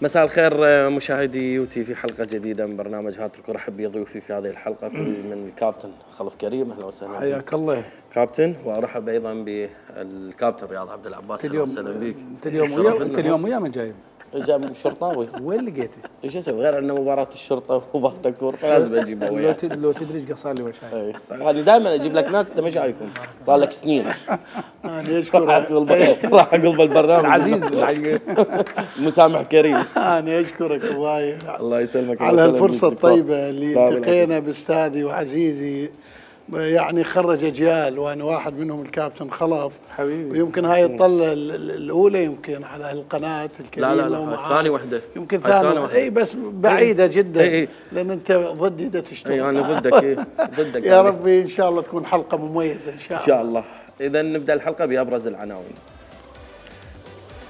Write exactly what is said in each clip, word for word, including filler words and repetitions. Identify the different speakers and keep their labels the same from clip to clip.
Speaker 1: مساء الخير مشاهدي يوتي في حلقة جديدة من برنامج هات الكرة. أحب يضيفي في هذه الحلقة كل من الكابتن خلف كريم. أهلا وسهلا
Speaker 2: حياك الله
Speaker 1: كابتن، وأرحب أيضا بالكابتن رياض عبد العباس. أهلا وسهلا بك.
Speaker 2: أنت اليوم ويا أنت اليوم ويا من جايب؟
Speaker 1: جاب شرطاوي.
Speaker 2: وين لقيته؟
Speaker 1: ايش اسوي غير عندنا مباراة الشرطة وبختكور فلازم اجيبه وياك.
Speaker 2: لو تدري ايش صار لي وشاي.
Speaker 1: يعني دائما اجيب لك ناس انت ما شايفهم صار لك سنين.
Speaker 2: انا اشكرك
Speaker 1: راح اقلب البرنامج
Speaker 2: العزيز
Speaker 1: مسامح كريم.
Speaker 2: انا اشكرك وايد
Speaker 1: الله يسلمك
Speaker 2: على الفرصة الطيبة اللي التقينا باستاذي وعزيزي، يعني خرج اجيال وانا واحد منهم الكابتن خلف
Speaker 1: حبيبي.
Speaker 2: ويمكن هاي الطله الاولى يمكن على القناه الكريمه.
Speaker 1: لا لا لا ثاني وحده
Speaker 2: يمكن ثاني وحده اي بس بعيده
Speaker 1: اي
Speaker 2: جدا.
Speaker 1: اي
Speaker 2: لان انت ضدي دا تشتغل.
Speaker 1: اي انا ضدك. اي ضدك
Speaker 2: يا ربي ان شاء الله تكون حلقه مميزه ان شاء الله.
Speaker 1: ان شاء الله. اذا نبدا الحلقه بابرز العناوين.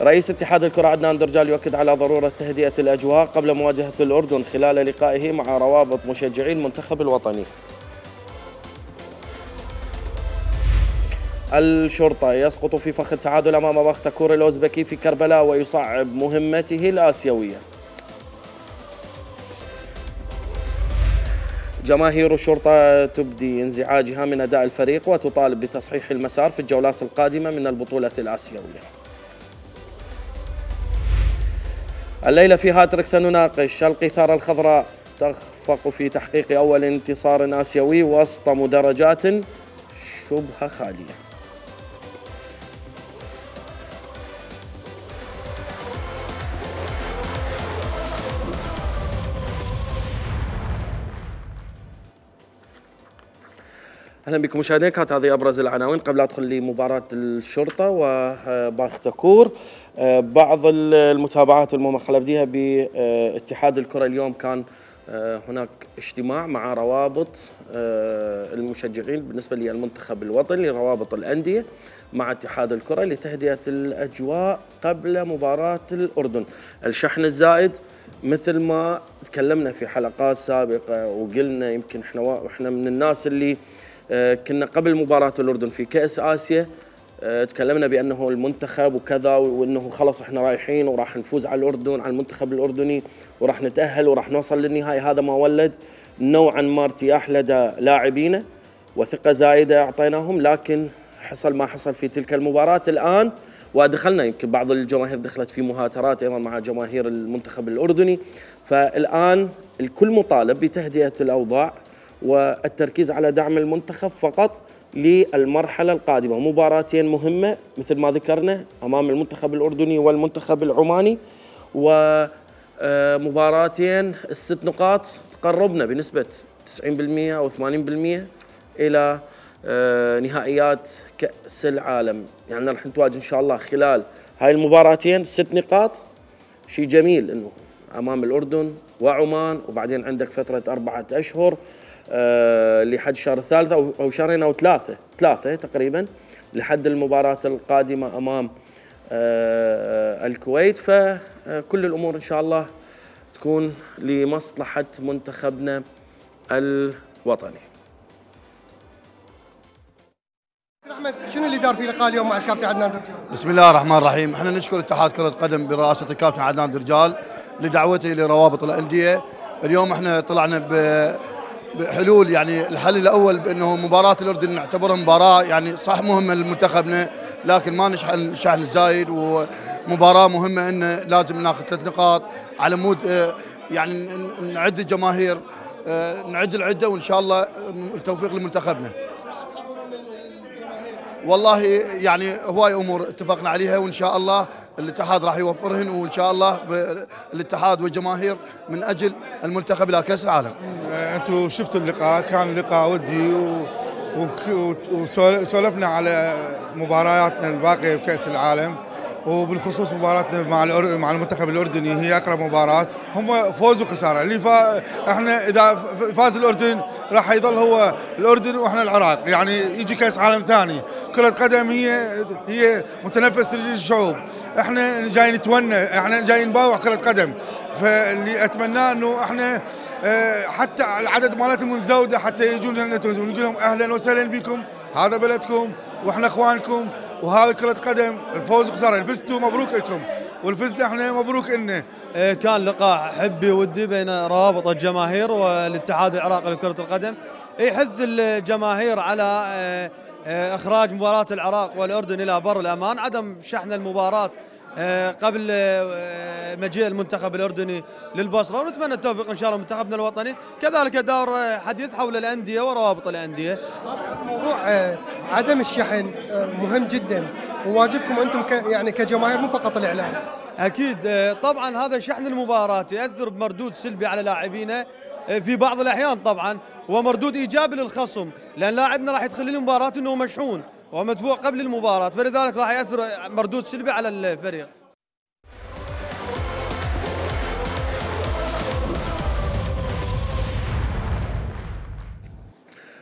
Speaker 1: رئيس اتحاد الكره عدنان درجال يؤكد على ضروره تهدئه الاجواء قبل مواجهه الاردن خلال لقائه مع روابط مشجعي المنتخب الوطني. الشرطة يسقط في فخ التعادل أمام بختكور الأوزبكي في كربلاء ويصعب مهمته الآسيوية. جماهير الشرطة تبدي انزعاجها من أداء الفريق وتطالب بتصحيح المسار في الجولات القادمة من البطولة الآسيوية. الليلة في هاتريك سنناقش القيثارة الخضراء تخفق في تحقيق أول انتصار آسيوي وسط مدرجات شبه خالية. اهلا بكم مشاهدينا. كانت هذه ابرز العناوين قبل ادخل لمباراه الشرطه وباختكور. بعض المتابعات الممخله بديها باتحاد الكره. اليوم كان هناك اجتماع مع روابط المشجعين بالنسبه للمنتخب الوطني لروابط الانديه مع اتحاد الكره لتهدئه الاجواء قبل مباراه الاردن. الشحن الزائد مثل ما تكلمنا في حلقات سابقه وقلنا يمكن احنا واحنا من الناس اللي كنا قبل مباراة الأردن في كأس آسيا تكلمنا بأنه المنتخب وكذا وأنه خلص احنا رايحين وراح نفوز على الأردن على المنتخب الأردني وراح نتأهل وراح نوصل للنهاية. هذا ما ولد نوعا ما ارتياح لدى لاعبينا وثقة زايدة أعطيناهم، لكن حصل ما حصل في تلك المباراة. الآن ودخلنا يمكن بعض الجماهير دخلت في مهاترات أيضا مع جماهير المنتخب الأردني، فالآن الكل مطالب بتهدئة الأوضاع والتركيز على دعم المنتخب فقط للمرحلة القادمة. مباراتين مهمة مثل ما ذكرنا أمام المنتخب الأردني والمنتخب العماني، ومباراتين الست نقاط تقربنا بنسبة تسعين بالمئة أو ثمانين بالمئة إلى نهائيات كأس العالم. يعني راح نتواجه إن شاء الله خلال هاي المباراتين ست نقاط. شيء جميل إنه أمام الأردن وعمان، وبعدين عندك فترة أربعة أشهر أه لحد الشهر الثالث أو شهرين أو ثلاثة ثلاثة تقريبا لحد المباراة القادمة أمام أه الكويت. فكل الأمور إن شاء الله تكون لمصلحة منتخبنا الوطني.
Speaker 3: أحمد، شنو اللي دار في لقاء اليوم مع الكابتن عدنان درجال؟
Speaker 4: بسم الله الرحمن الرحيم. احنا نشكر اتحاد كرة قدم برئاسة الكابتن عدنان درجال لدعوته لروابط الأندية. اليوم احنا طلعنا بحلول، يعني الحل الاول بانه مباراه الاردن نعتبرها مباراه يعني صح مهمه لمنتخبنا، لكن ما نشحن الشحن الزايد، ومباراه مهمه انه لازم ناخذ ثلاث نقاط على مود يعني نعد الجماهير، نعد العده وان شاء الله التوفيق لمنتخبنا. والله يعني هواي امور اتفقنا عليها وان شاء الله الاتحاد راح يوفرهن، وان شاء الله الاتحاد والجماهير من اجل المنتخب الى كاس العالم.
Speaker 5: انتم شفتوا اللقاء، كان لقاء ودي وسولفنا على مبارياتنا الباقيه بكاس العالم، وبالخصوص مباراتنا مع مع المنتخب الاردني هي اقرب مباراه. هم فوز وخساره، اللي فا احنا اذا فاز الاردن راح يظل هو الاردن واحنا العراق، يعني يجي كاس عالم ثاني. كرة قدم هي هي متنفس للشعوب، احنا جايين نتونى، احنا جايين نباوع كرة قدم. فاللي اتمناه انه احنا حتى العدد مالتهم منزوده حتى يجون لنا ونقول لهم اهلا وسهلا بكم، هذا بلدكم واحنا اخوانكم، وهذا كرة قدم الفوز وخساره، فزتوا مبروك لكم، والفزنا احنا مبروك لنا.
Speaker 6: كان لقاء حبي ودي بين روابط الجماهير والاتحاد العراقي لكرة القدم، يحث الجماهير على اخراج مباراة العراق والاردن الى بر الامان، عدم شحن المباراة قبل مجيء المنتخب الاردني للبصره، ونتمنى التوفيق ان شاء الله منتخبنا الوطني. كذلك دار حديث حول الانديه وروابط الانديه.
Speaker 3: موضوع عدم الشحن مهم جدا، وواجبكم انتم يعني كجماهير مو فقط الاعلام.
Speaker 6: اكيد طبعا هذا شحن المباراه ياثر بمردود سلبي على لاعبينا في بعض الاحيان طبعا، ومردود ايجابي للخصم، لان لاعبنا راح يدخل المباراه انه مشحون ومدفوع قبل المباراه، فلذلك راح ياثر مردود سلبي على الفريق.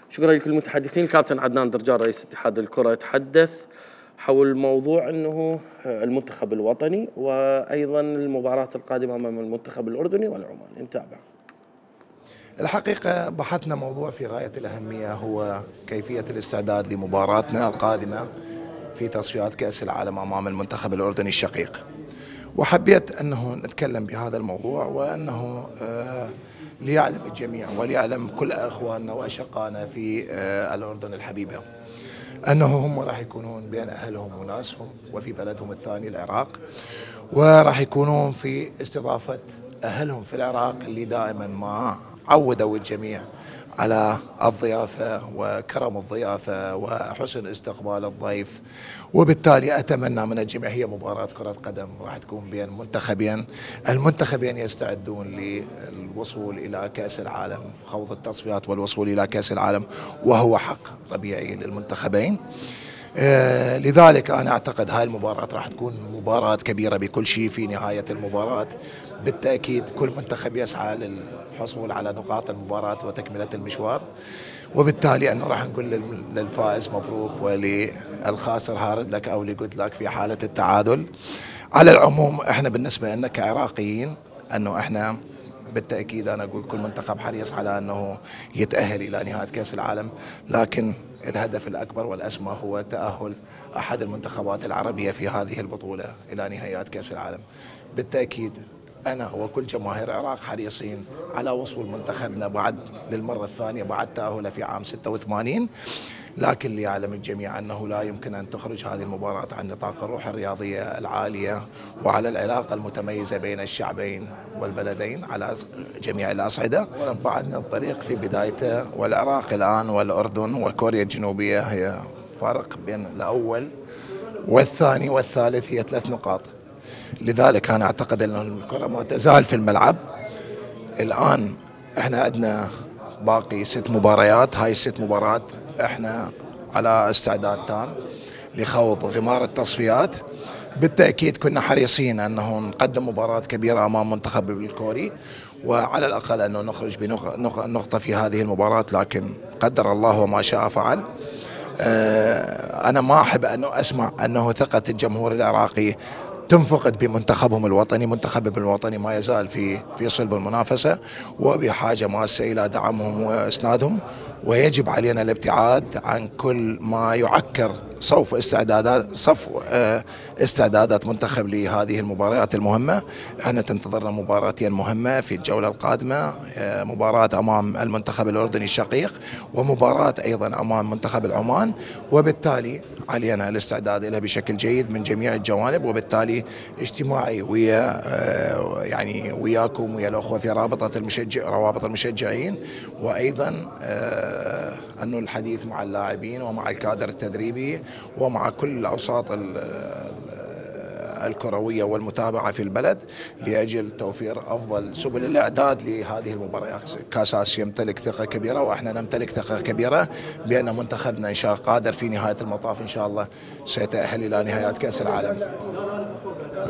Speaker 1: شكرا لكل المتحدثين. الكابتن عدنان درجال رئيس اتحاد الكرة تحدث حول موضوع انه المنتخب الوطني وايضا المباراة القادمة امام المنتخب الاردني والعماني. نتابع.
Speaker 7: الحقيقة بحثنا موضوع في غاية الأهمية، هو كيفية الاستعداد لمباراتنا القادمة في تصفيات كأس العالم أمام المنتخب الأردني الشقيق، وحبيت أنه نتكلم بهذا الموضوع، وأنه آه ليعلم الجميع وليعلم كل أخواننا وأشقائنا في آه الأردن الحبيبة أنه هم راح يكونون بين أهلهم وناسهم وفي بلدهم الثاني العراق، وراح يكونون في استضافة أهلهم في العراق اللي دائما ما عودوا الجميع على الضيافة وكرم الضيافة وحسن استقبال الضيف. وبالتالي أتمنى من الجميع، هي مباراة كرة قدم راح تكون بين منتخبين، المنتخبين يستعدون للوصول إلى كأس العالم، خوض التصفيات والوصول إلى كأس العالم، وهو حق طبيعي للمنتخبين. آه لذلك أنا أعتقد هاي المباراة راح تكون مباراة كبيرة بكل شيء. في نهاية المباراة بالتأكيد كل منتخب يسعى للحصول على نقاط المباراة وتكملة المشوار، وبالتالي أنه راح نقول للفائز مبروك وللخاسر هارد لك أو لجود لك في حالة التعادل. على العموم احنا بالنسبة لنا كعراقيين أنه احنا بالتأكيد أنا أقول كل منتخب حريص على أنه يتأهل إلى نهاية كأس العالم، لكن الهدف الأكبر والأسمى هو تأهل أحد المنتخبات العربية في هذه البطولة إلى نهايات كأس العالم. بالتأكيد أنا وكل جماهير العراق حريصين على وصول منتخبنا بعد للمرة الثانية بعد تأهله في عام ستة وثمانين، لكن ليعلم الجميع أنه لا يمكن أن تخرج هذه المباراة عن نطاق الروح الرياضية العالية وعلى العلاقة المتميزة بين الشعبين والبلدين على جميع الأصعدة. بعدنا الطريق في بدايته، والعراق الآن والأردن وكوريا الجنوبية هي فارق بين الأول والثاني والثالث هي ثلاث نقاط. لذلك أنا أعتقد أن الكرة ما تزال في الملعب. الآن احنا عندنا باقي ست مباريات، هاي الست مباريات احنا على استعداد تام لخوض غمار التصفيات. بالتأكيد كنا حريصين أنه نقدم مباراة كبيرة أمام منتخب الكوري، وعلى الأقل أنه نخرج بنقطة في هذه المباراة، لكن قدر الله وما شاء فعل. أنا ما أحب أنه أسمع أنه ثقة الجمهور العراقي تنفقد بمنتخبهم الوطني. منتخبهم الوطني ما يزال في في صلب المنافسة وبحاجة ماسة إلى دعمهم وإسنادهم، ويجب علينا الابتعاد عن كل ما يعكر صوف استعدادات صف استعدادات منتخب لهذه المباريات المهمة. احنا تنتظرنا مباراتين مهمة في الجولة القادمة، مباراة أمام المنتخب الأردني الشقيق ومباراة أيضا أمام منتخب العمان، وبالتالي علينا الاستعداد لها بشكل جيد من جميع الجوانب. وبالتالي اجتماعي ويا يعني وياكم ويا الأخوة في رابطة المشجع روابط المشجعين، وأيضا أنه الحديث مع اللاعبين ومع الكادر التدريبي ومع كل الأوساط الكروية والمتابعة في البلد لأجل توفير أفضل سبل الإعداد لهذه المباريات. كاس آسيا يمتلك ثقة كبيرة، وإحنا نمتلك ثقة كبيرة بأن منتخبنا إن شاء الله قادر في نهاية المطاف إن شاء الله سيتأهل إلى نهايات كأس العالم.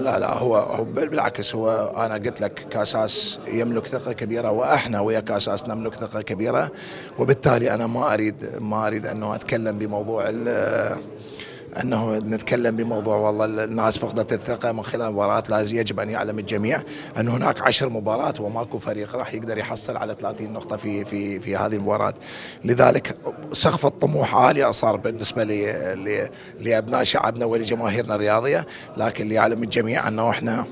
Speaker 7: لا لا هو, هو بالعكس، هو أنا قلت لك كاساس يملك ثقة كبيرة، وإحنا ويا كاساس نملك ثقة كبيرة، وبالتالي أنا ما أريد ما أريد أنه أتكلم بموضوع انه نتكلم بموضوع والله الناس فقدت الثقه من خلال المباراه. لازم يجب ان يعلم الجميع ان هناك عشر مباريات وماكو فريق راح يقدر يحصل على ثلاثين نقطه في في في هذه المباراه. لذلك سقف الطموح عالي صار بالنسبه لي لابناء شعبنا ولجماهيرنا الرياضيه، لكن ليعلم الجميع انه احنا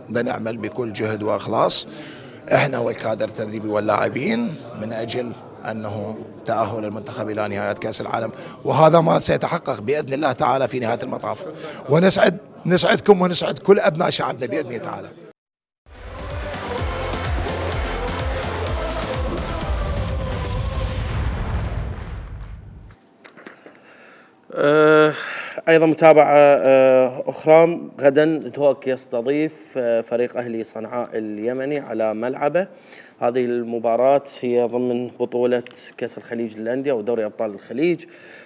Speaker 7: بدنا نعمل بكل جهد واخلاص احنا والكادر التدريبي واللاعبين من اجل انه تاهل المنتخب الى نهايه كاس العالم، وهذا ما سيتحقق باذن الله تعالى في نهايه المطاف. ونسعد نسعدكم ونسعد كل ابناء شعبنا باذن الله تعالى.
Speaker 1: أه ايضا متابعه أه اخرى، غدا دهوك يستضيف أه فريق اهلي صنعاء اليمني على ملعبه. هذه المباراة هي ضمن بطولة كأس الخليج للأندية ودوري أبطال الخليج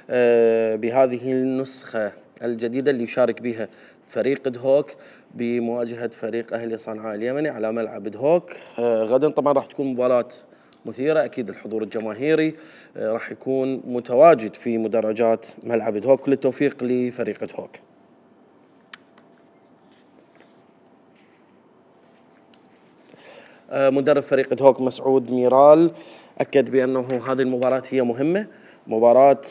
Speaker 1: أه بهذه النسخة الجديدة اللي يشارك بها فريق دهوك بمواجهة فريق أهلي صنعاء اليمني على ملعب دهوك. أه غدا طبعا راح تكون مباراة مثيرة، أكيد الحضور الجماهيري أه راح يكون متواجد في مدرجات ملعب دهوك. كل التوفيق لفريق دهوك. مدرب فريق دهوك مسعود ميرال أكد بأنه هذه المباراة هي مهمة، مباراة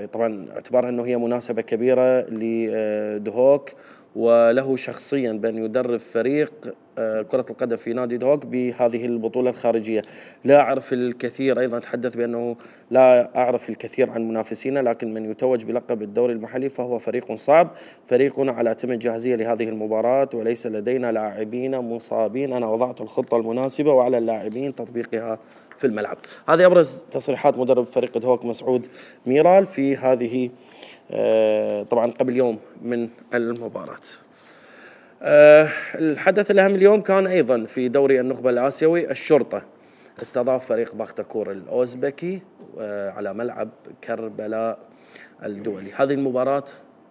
Speaker 1: طبعا اعتبارها أنه هي مناسبة كبيرة لدهوك وله شخصيا بأن يدرب فريق كرة القدم في نادي دهوك بهذه البطولة الخارجية. لا أعرف الكثير، أيضا تحدث بأنه لا أعرف الكثير عن منافسينا، لكن من يتوج بلقب الدوري المحلي فهو فريق صعب. فريقنا على أتم الجاهزية لهذه المباراة وليس لدينا لاعبين مصابين. أنا وضعت الخطة المناسبة وعلى اللاعبين تطبيقها في الملعب. هذه أبرز تصريحات مدرب فريق دهوك مسعود ميرال في هذه طبعا قبل يوم من المباراة. أه الحدث الأهم اليوم كان أيضا في دوري النخبة الآسيوي. الشرطة استضاف فريق باختكور الأوزبكي أه على ملعب كربلاء الدولي. هذه المباراة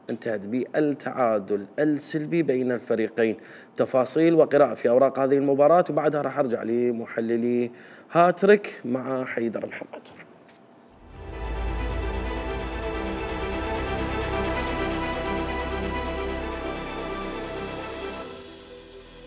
Speaker 1: انتهت بالتعادل السلبي بين الفريقين. تفاصيل وقراءة في أوراق هذه المباراة وبعدها راح أرجع لمحللي هاتريك مع حيدر محمد.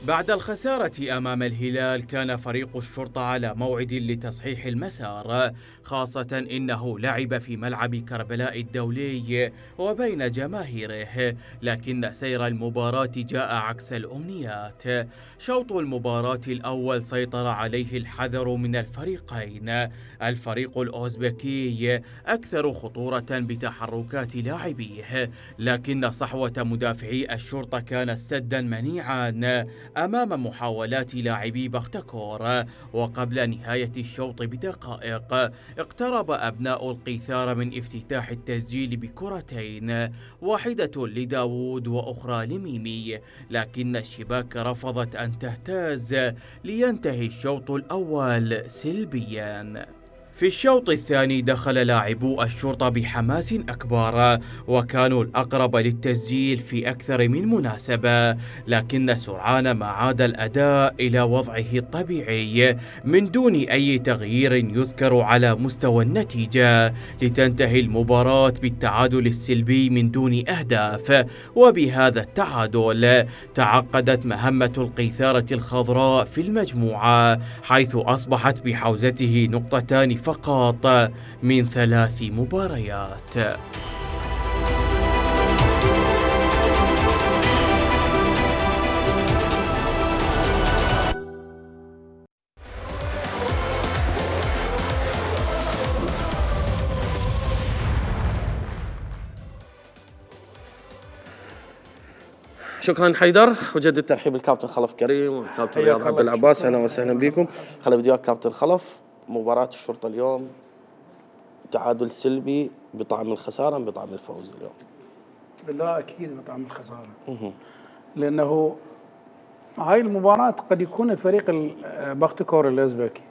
Speaker 8: بعد الخسارة أمام الهلال كان فريق الشرطة على موعد لتصحيح المسار، خاصة إنه لعب في ملعب كربلاء الدولي وبين جماهيره، لكن سير المباراة جاء عكس الأمنيات. شوط المباراة الأول سيطر عليه الحذر من الفريقين. الفريق الأوزبكي أكثر خطورة بتحركات لاعبيه، لكن صحوة مدافعي الشرطة كانت سدا منيعا أمام محاولات لاعبي باختكور. وقبل نهاية الشوط بدقائق اقترب أبناء القيثار من افتتاح التسجيل بكرتين، واحدة لداوود وأخرى لميمي، لكن الشباك رفضت أن تهتز لينتهي الشوط الأول سلبيا. في الشوط الثاني دخل لاعبو الشرطة بحماس أكبر وكانوا الأقرب للتسجيل في أكثر من مناسبة، لكن سرعان ما عاد الأداء إلى وضعه الطبيعي من دون أي تغيير يذكر على مستوى النتيجة، لتنتهي المباراة بالتعادل السلبي من دون أهداف. وبهذا التعادل تعقدت مهمة القيثارة الخضراء في المجموعة، حيث أصبحت بحوزته نقطتان فقط من ثلاث مباريات.
Speaker 1: شكرا حيدر، وجدد ترحيب الكابتن خلف كريم والكابتن رياض عبد العباس. اهلا وسهلا بكم. خلينا بدي وياك كابتن خلف، مباراة الشرطة اليوم تعادل سلبي بطعم الخسارة بطعم الفوز اليوم.
Speaker 9: لا أكيد بطعم الخسارة، لأنه هاي المباراة قد يكون الفريق باختكور الأوزبكي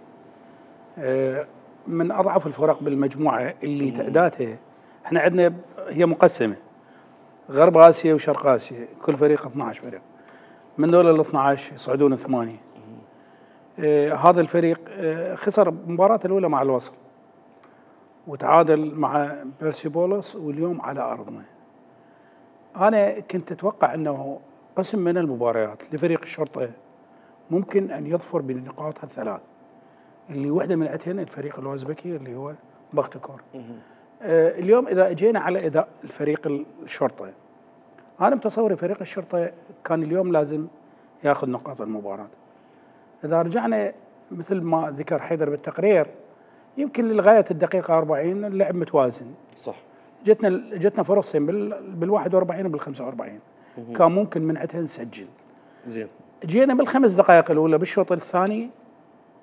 Speaker 9: من أضعف الفرق بالمجموعة اللي تعدادها احنا عندنا هي مقسمة غرب آسيا وشرق آسيا، كل فريق اثني عشر فريق، من دول ال اثني عشر يصعدون ثمانية. آه هذا الفريق آه خسر مباراة الأولى مع الوصل، وتعادل مع بيرسيبولس واليوم على ارضنا. انا كنت اتوقع انه قسم من المباريات لفريق الشرطه ممكن ان يظفر بالنقاط الثلاث اللي واحده من عندهن الفريق الاوزبكي اللي هو بختكور. آه اليوم اذا اجينا على اداء الفريق الشرطه، انا متصوري فريق الشرطه كان اليوم لازم ياخذ نقاط المباراه. اذا رجعنا مثل ما ذكر حيدر بالتقرير، يمكن لغايه الدقيقه أربعين اللعب متوازن.
Speaker 1: صح.
Speaker 9: جتنا جتنا فرصتين بال واحد وأربعين وبال خمسة وأربعين، كان ممكن من عندها نسجل.
Speaker 1: زين.
Speaker 9: جينا بالخمس دقائق الاولى بالشوط الثاني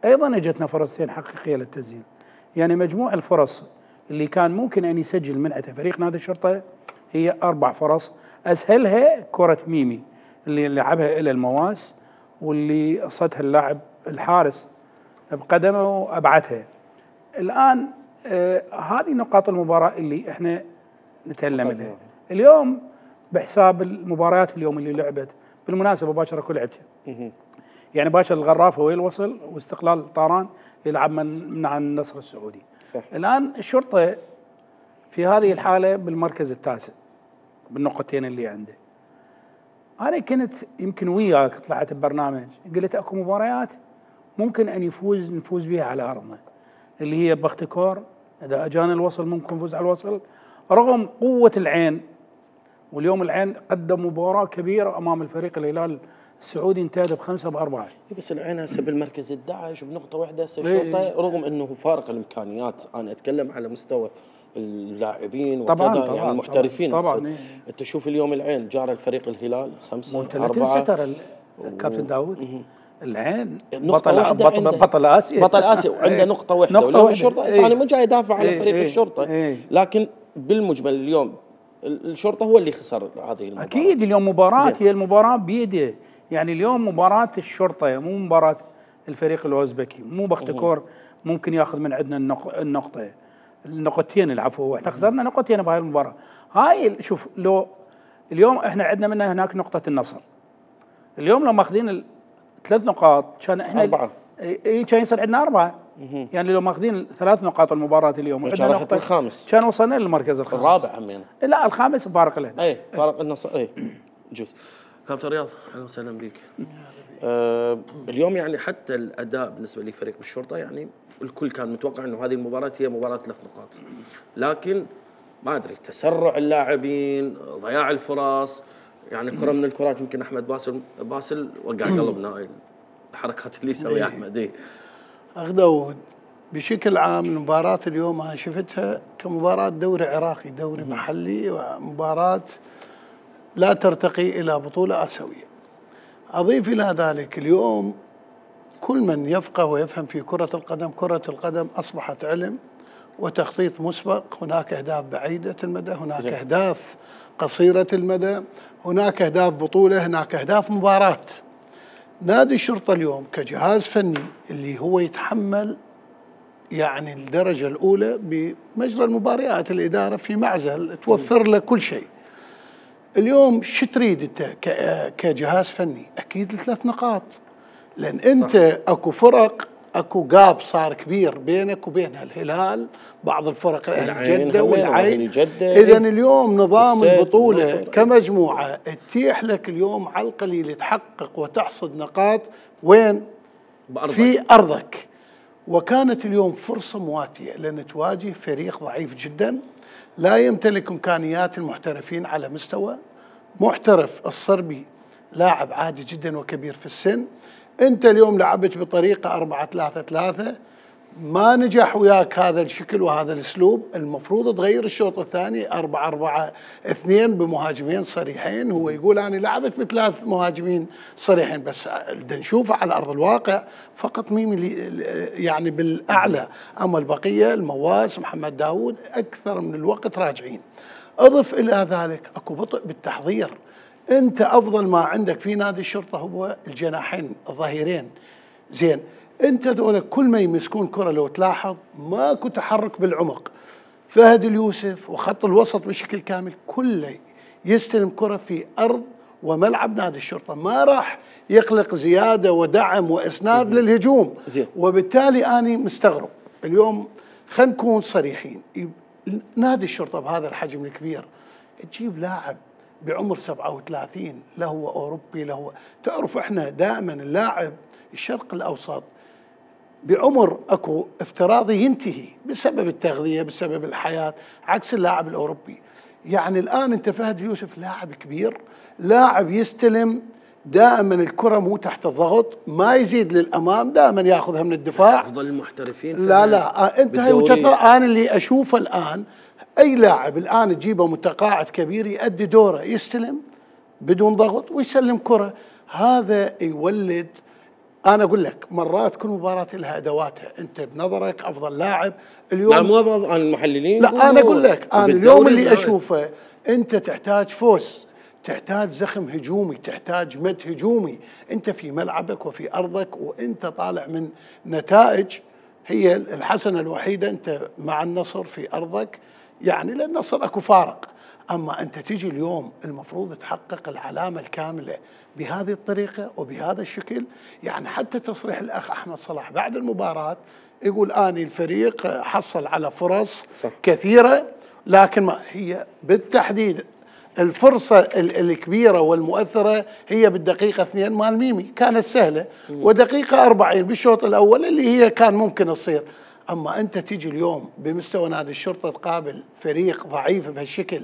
Speaker 9: ايضا اجتنا فرصتين حقيقيه للتسجيل. يعني مجموع الفرص اللي كان ممكن ان يسجل من عندها فريق نادي الشرطه هي اربع فرص، اسهلها كره ميمي اللي لعبها الى المواس واللي قصدها اللاعب الحارس بقدمه وابعدها. الان آه هذه نقاط المباراه اللي احنا نتكلم عليها. اليوم بحساب المباريات اليوم اللي لعبت، بالمناسبه باكر اكو لعبتين. يعني باكر الغرافه وين وصل واستقلال طاران يلعب من من عن النصر السعودي.
Speaker 1: صح.
Speaker 9: الان الشرطه في هذه الحاله بالمركز التاسع بالنقطتين اللي عنده. انا كنت يمكن وياك طلعت ببرنامج قلت اكو مباريات ممكن ان يفوز نفوز بها على ارضنا، اللي هي بختكور اذا اجانا الوصل ممكن نفوز على الوصل رغم قوه العين. واليوم العين قدم مباراه كبيره امام الفريق الهلال السعودي، انتهى بخمسه باربعه.
Speaker 1: بس العين هسه بالمركز الأحد عشر بنقطه واحده هسه الشرطه، رغم انه فارق الامكانيات، انا اتكلم على مستوى اللاعبين وكذا
Speaker 9: طبعاً
Speaker 1: يعني المحترفين.
Speaker 9: طبعا, طبعاً إيه.
Speaker 1: انت شوف اليوم العين جار الفريق الهلال خمسه
Speaker 9: اربعه.
Speaker 1: اربعه
Speaker 9: ستر الكابتن داوود. العين
Speaker 1: بطل
Speaker 9: بطل, بطل اسيا
Speaker 1: بطل اسيا وعنده ايه. نقطه واحده.
Speaker 9: نقطه واحده.
Speaker 1: الشرطه
Speaker 9: ايه.
Speaker 1: انا مو جاي ادافع على
Speaker 9: ايه.
Speaker 1: فريق
Speaker 9: ايه.
Speaker 1: الشرطه
Speaker 9: ايه.
Speaker 1: لكن بالمجمل اليوم الشرطه هو اللي خسر هذه المباراه.
Speaker 9: اكيد اليوم مباراه هي المباراه بيده. يعني اليوم مباراه الشرطه مو مباراه الفريق الاوزبكي، مو بختكور ممكن ياخذ من عندنا النقطه النقطتين العفو. احنا خسرنا نقطتين بهاي المباراه. هاي شوف لو اليوم احنا عندنا منها هناك نقطه النصر، اليوم لو ماخذين ثلاث نقاط كان احنا
Speaker 1: اربعه
Speaker 9: اي كان يصير عندنا اربعه. يعني لو ماخذين ثلاث نقاط المباراه اليوم
Speaker 1: كان نقطه الخامس
Speaker 9: كان وصلنا للمركز الخامس.
Speaker 1: الرابع همين.
Speaker 9: لا الخامس فارق له.
Speaker 1: اي فارق النصر اي جوز. كابتن رياض اهلا وسهلا بك. آه اليوم يعني حتى الاداء بالنسبه لفريق الشرطه يعني الكل كان متوقع انه هذه المباراه هي مباراه ثلاث نقاط، لكن ما ادري تسرع اللاعبين، ضياع الفرص، يعني كره من الكرات يمكن احمد باسل باسل وقع قلبنا الحركات اللي يسويها احمد. اي
Speaker 2: اخ داود بشكل عام المباراه اليوم انا شفتها كمباراه دوري عراقي، دوري محلي، ومباراه لا ترتقي الى بطوله اسيويه. اضيف الى ذلك اليوم كل من يفقه ويفهم في كره القدم، كره القدم اصبحت علم وتخطيط مسبق. هناك اهداف بعيده المدى، هناك زي. اهداف قصيره المدى، هناك اهداف بطوله، هناك اهداف مباراه. نادي الشرطه اليوم كجهاز فني اللي هو يتحمل يعني الدرجه الاولى بمجرى المباريات، الاداره في معزل توفر له كل شيء. اليوم شو تريد انت كجهاز فني؟ اكيد ثلاث نقاط، لان انت صح. اكو فرق اكو جاب صار كبير بينك وبينها، الهلال بعض الفرق اهل جده والعين. اذا اليوم نظام البطوله كمجموعه تتيح لك اليوم على القليل تحقق وتحصد نقاط وين؟ بأرضك. في ارضك. وكانت اليوم فرصه مواتيه لان تواجه فريق ضعيف جدا لا يمتلك امكانيات المحترفين على مستوى. محترف الصربي لاعب عادي جدا وكبير في السن، انت اليوم لعبت بطريقه أربعة ثلاثة ثلاثة ما نجح وياك هذا الشكل وهذا الاسلوب. المفروض تغير الشوط الثاني أربعة أربعة اثنين بمهاجمين صريحين. هو يقول انا لعبت بثلاث مهاجمين صريحين، بس نشوفه على ارض الواقع فقط ميمي يعني بالاعلى، اما البقيه المواس محمد داوود اكثر من الوقت راجعين. اضف الى ذلك اكو بطء بالتحضير. انت افضل ما عندك في نادي الشرطه هو الجناحين الظهيرين. زين انت ذولا كل ما يمسكون كره لو تلاحظ ماكو تحرك بالعمق. فهد اليوسف وخط الوسط بشكل كامل كله يستلم كره في ارض وملعب نادي الشرطه، ما راح يخلق زياده ودعم واسناد للهجوم. زين. وبالتالي اني مستغرب اليوم خلينا نكون صريحين، نادي الشرطه بهذا الحجم الكبير تجيب لاعب بعمر سبعة وثلاثين لا هو اوروبي لا هو، تعرف احنا دائما اللاعب الشرق الاوسط بعمر اكو افتراضي ينتهي بسبب التغذيه بسبب الحياه، عكس اللاعب الاوروبي. يعني الان انت فهد يوسف لاعب كبير، لاعب يستلم دائما الكره مو تحت الضغط، ما يزيد للامام، دائما ياخذها من الدفاع.
Speaker 1: افضل المحترفين
Speaker 2: لا لا انت هاي وجهه نظر. انا اللي اشوفه الان اي لاعب الان تجيبه متقاعد كبير يؤدي دوره، يستلم بدون ضغط ويسلم كره، هذا يولد. انا اقول لك مرات كل مباراه لها ادواتها، انت بنظرك افضل لاعب اليوم.
Speaker 1: لا مو عن المحللين،
Speaker 2: لا انا اقول لك انا اليوم اللي اشوفه انت تحتاج فوز، تحتاج زخم هجومي، تحتاج مد هجومي، انت في ملعبك وفي ارضك وانت طالع من نتائج هي الحسنه الوحيده انت مع النصر في ارضك، يعني للنصر اكو فارق. اما انت تيجي اليوم المفروض تحقق العلامه الكامله بهذه الطريقه وبهذا الشكل. يعني حتى تصريح الاخ احمد صلاح بعد المباراه يقول اني الفريق حصل على فرص صح. كثيره، لكن ما هي بالتحديد الفرصة الكبيرة والمؤثرة هي بالدقيقة اثنين مال ميمي، كانت سهلة، ودقيقة أربعين بالشوط الأول اللي هي كان ممكن تصير. أما أنت تيجي اليوم بمستوى نادي الشرطة تقابل فريق ضعيف بهالشكل،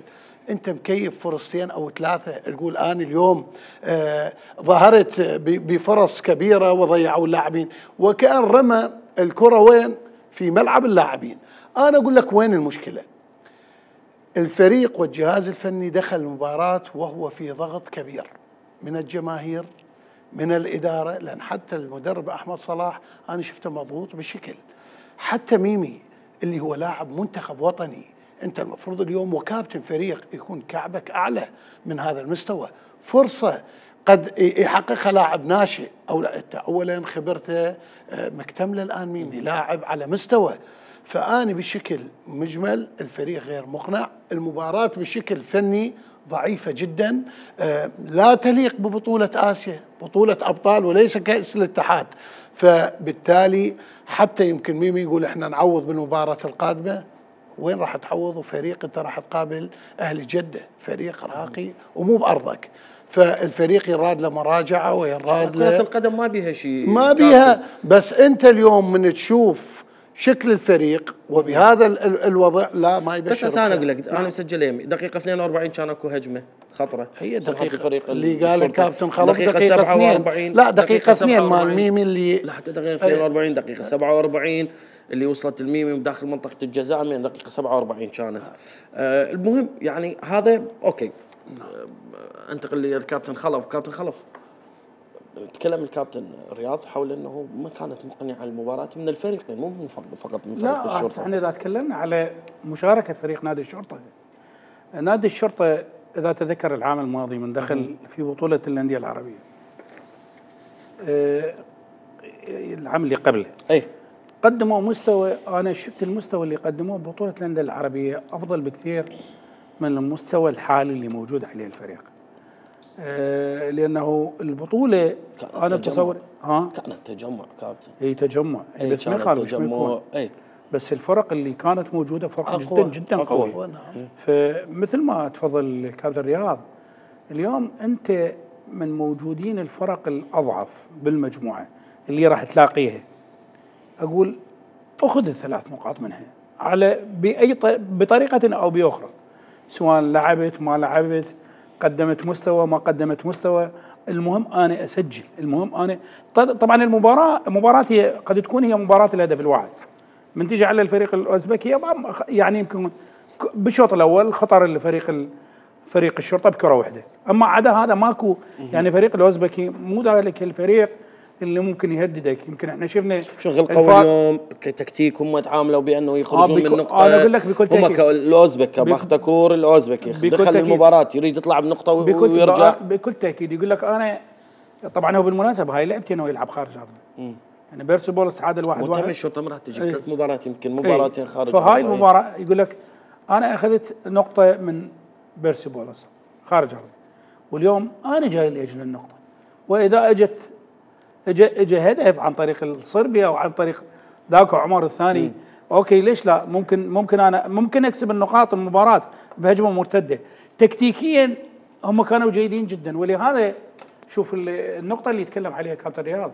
Speaker 2: أنت مكيف فرصتين أو ثلاثة، تقول أنا اليوم آه ظهرت بفرص كبيرة وضيعوا اللاعبين، وكأن رمى الكرة وين؟ في ملعب اللاعبين. أنا أقول لك وين المشكلة؟ الفريق والجهاز الفني دخل المباراة وهو في ضغط كبير من الجماهير من الإدارة، لأن حتى المدرب أحمد صلاح أنا شفته مضغوط بشكل، حتى ميمي اللي هو لاعب منتخب وطني، أنت المفروض اليوم وكابتن فريق يكون كعبك أعلى من هذا المستوى، فرصة قد يحققها لاعب ناشئ أو لا. أنت أولا خبرته مكتملة الآن ميمي لاعب على مستوى، فأنا بشكل مجمل الفريق غير مقنع، المباراة بشكل فني ضعيفة جدا، لا تليق ببطولة آسيا، بطولة أبطال وليس كأس الاتحاد. فبالتالي حتى يمكن ميمي يقول احنا نعوض بالمباراة القادمة، وين راح تعوض؟ وفريق انت راح تقابل أهل جدة، فريق راقي ومو بأرضك، فالفريق يراد له مراجعة ويراد له.
Speaker 1: كرة القدم ما بيها شيء،
Speaker 2: ما بيها، بس انت اليوم من تشوف شكل الفريق وبهذا الوضع لا ما يبشر.
Speaker 1: بس انا اقول لك انا مسجل يمي دقيقه اثنين وأربعين كان اكو هجمه خطره،
Speaker 2: هي
Speaker 1: دقيقه
Speaker 2: الفريق اللي قال الكابتن خلف
Speaker 1: دقيقه, دقيقة سبعة وأربعين،
Speaker 2: لا دقيقه اثنين مال ميمي اللي
Speaker 1: لا حتى دقيقه اثنين وأربعين دقيقه سبعة وأربعين اللي وصلت الميمي داخل منطقه الجزاء من دقيقه سبعة وأربعين كانت. آه المهم يعني هذا اوكي. آه انتقل للكابتن خلف. كابتن خلف تكلم الكابتن رياض حول انه ما كانت مقنعه المباراه من الفريقين، مو من فقط من فريق
Speaker 9: لا
Speaker 1: الشرطه.
Speaker 9: احنا اذا تكلمنا على مشاركه فريق نادي الشرطه، نادي الشرطه اذا تذكر العام الماضي من دخل في بطوله الانديه العربيه، أه العام اللي قبله
Speaker 1: اي
Speaker 9: قدموا مستوى، انا شفت المستوى اللي قدموه ببطوله الانديه العربيه افضل بكثير من المستوى الحالي اللي موجود عليه الفريق. آه لانه البطوله انا بتصور ها
Speaker 1: كانت تجمع كابتن،
Speaker 9: اي تجمع
Speaker 1: أي
Speaker 9: بس ما يخالف
Speaker 1: تجمع اي،
Speaker 9: بس الفرق اللي كانت موجوده فرق
Speaker 2: أقوى.
Speaker 9: جدا جدا
Speaker 2: أقوى.
Speaker 9: قوي. فمثل ما تفضل الكابتن رياض، اليوم انت من موجودين الفرق الاضعف بالمجموعه اللي راح تلاقيها، اقول اخذ الثلاث نقاط منها على باي بطريقه او باخرى، سواء لعبت ما لعبت، قدمت مستوى ما قدمت مستوى، المهم انا اسجل، المهم انا طبعا المباراه مباراه هي قد تكون هي مباراه الهدف الواحد. من تيجي على الفريق الاوزبكي يعني يمكن بالشوط الاول خطر الفريق فريق الشرطه بكره واحده، اما عدا هذا ماكو، يعني فريق الاوزبكي مو ذلك الفريق اللي ممكن يهددك. يمكن احنا شفنا
Speaker 1: شغل قوي اليوم كتكتيك، هم تعاملوا بانه يخرجون
Speaker 9: آه
Speaker 1: من نقطه.
Speaker 9: انا اقول لك بكل تاكيد
Speaker 1: هم الاوزبك باختكور الاوزبكي دخل المباراه يريد يطلع بنقطه ويرجع
Speaker 9: بكل تاكيد. يقول لك انا طبعا هو بالمناسبه هاي لعبتين هو يلعب خارج ارضه، يعني بيرسبولس تعادل واحد واحد،
Speaker 1: وتم الشرطه ما راح تجي ثلاث مباريات يمكن مباراتين خارج
Speaker 9: فهاي المباراه يقول لك انا اخذت نقطه من بيرسبولس خارج ارضه، واليوم انا جاي لاجل النقطه، واذا اجت اجى اجى هدف عن طريق الصربيا او عن طريق ذاك عمر الثاني اوكي ليش لا؟ ممكن ممكن انا ممكن اكسب النقاط المباراه بهجمه مرتده. تكتيكيا هم كانوا جيدين جدا، ولهذا شوف النقطه اللي يتكلم عليها كابتن رياض،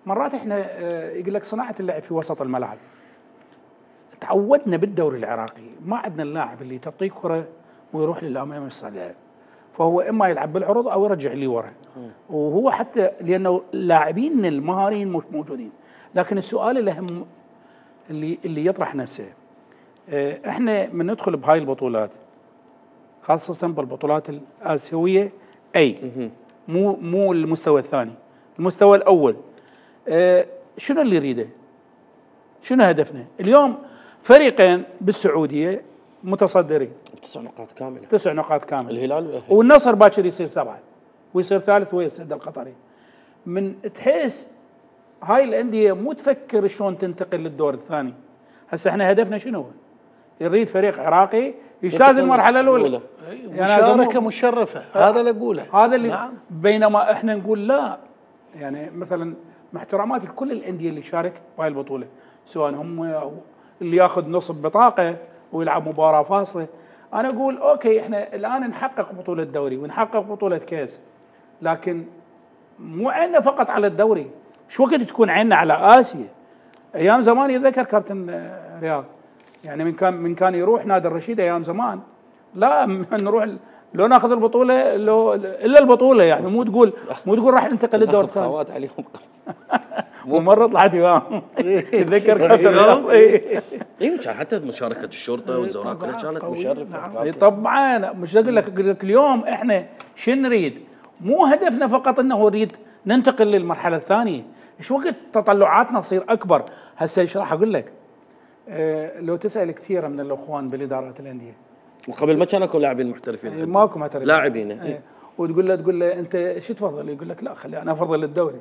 Speaker 9: مرات احنا يقول لك صناعه اللعب في وسط الملعب. تعودنا بالدوري العراقي ما عندنا اللاعب اللي تعطيه كره ويروح للامام يصعدها، فهو اما يلعب بالعروض او يرجع لي ورا، وهو حتى لانه لاعبين المهاريين مش موجودين. لكن السؤال الاهم اللي اللي يطرح نفسه، احنا من ندخل بهاي البطولات خاصه بالبطولات الاسيويه اي مو مو المستوى الثاني، المستوى الاول شنو اللي يريده؟ شنو هدفنا؟ اليوم فريقين بالسعوديه متصدرين
Speaker 1: تسع نقاط كامله
Speaker 9: تسع نقاط كامله
Speaker 1: الهلال
Speaker 9: والنصر باكر يصير سبعه ويصير ثالث ويا السد القطري. من تحس هاي الانديه مو تفكر شلون تنتقل للدور الثاني. هسه احنا هدفنا شنو؟ يريد فريق عراقي يجتاز المرحله الاولى،
Speaker 2: يعني مشاركه مشرفه، هذا اللي اقوله.
Speaker 9: هذا اللي نعم. بينما احنا نقول لا، يعني مثلا مع احتراماتي لكل الانديه اللي شارك بهاي البطوله، سواء هم اللي ياخذ نصب بطاقه ويلعب مباراه فاصله، انا اقول اوكي احنا الان نحقق بطوله دوري ونحقق بطوله كاس، لكن مو عيننا فقط على الدوري، شو وقت تكون عيننا على اسيا؟ ايام زمان يتذكر كابتن رياض، يعني من كان من كان يروح نادي الرشيد ايام زمان، لا نروح لو ناخذ البطوله لو الا البطوله، يعني مو تقول مو تقول راح ننتقل للدور الثاني.
Speaker 1: صوات عليهم
Speaker 9: ومره طلعت وياهم يتذكر كابتن رياض.
Speaker 1: اي كان حتى مشاركه الشرطه والزوراء كلها كانت مشرفه.
Speaker 9: طبعا مش اقول لك اقول لك اليوم احنا شو نريد؟ مو هدفنا فقط انه نريد ننتقل للمرحله الثانيه، ايش وقت تطلعاتنا تصير اكبر. هسه ايش راح اقول لك؟ أه لو تسال كثير من الاخوان بالادارات الانديه،
Speaker 1: وقبل ما كانوا لاعبين محترفين،
Speaker 9: أه ماكو محترفين
Speaker 1: لاعبين،
Speaker 9: أه وتقول له تقول له انت شو تفضل؟ يقول لك لا خلي انا افضل الدوري.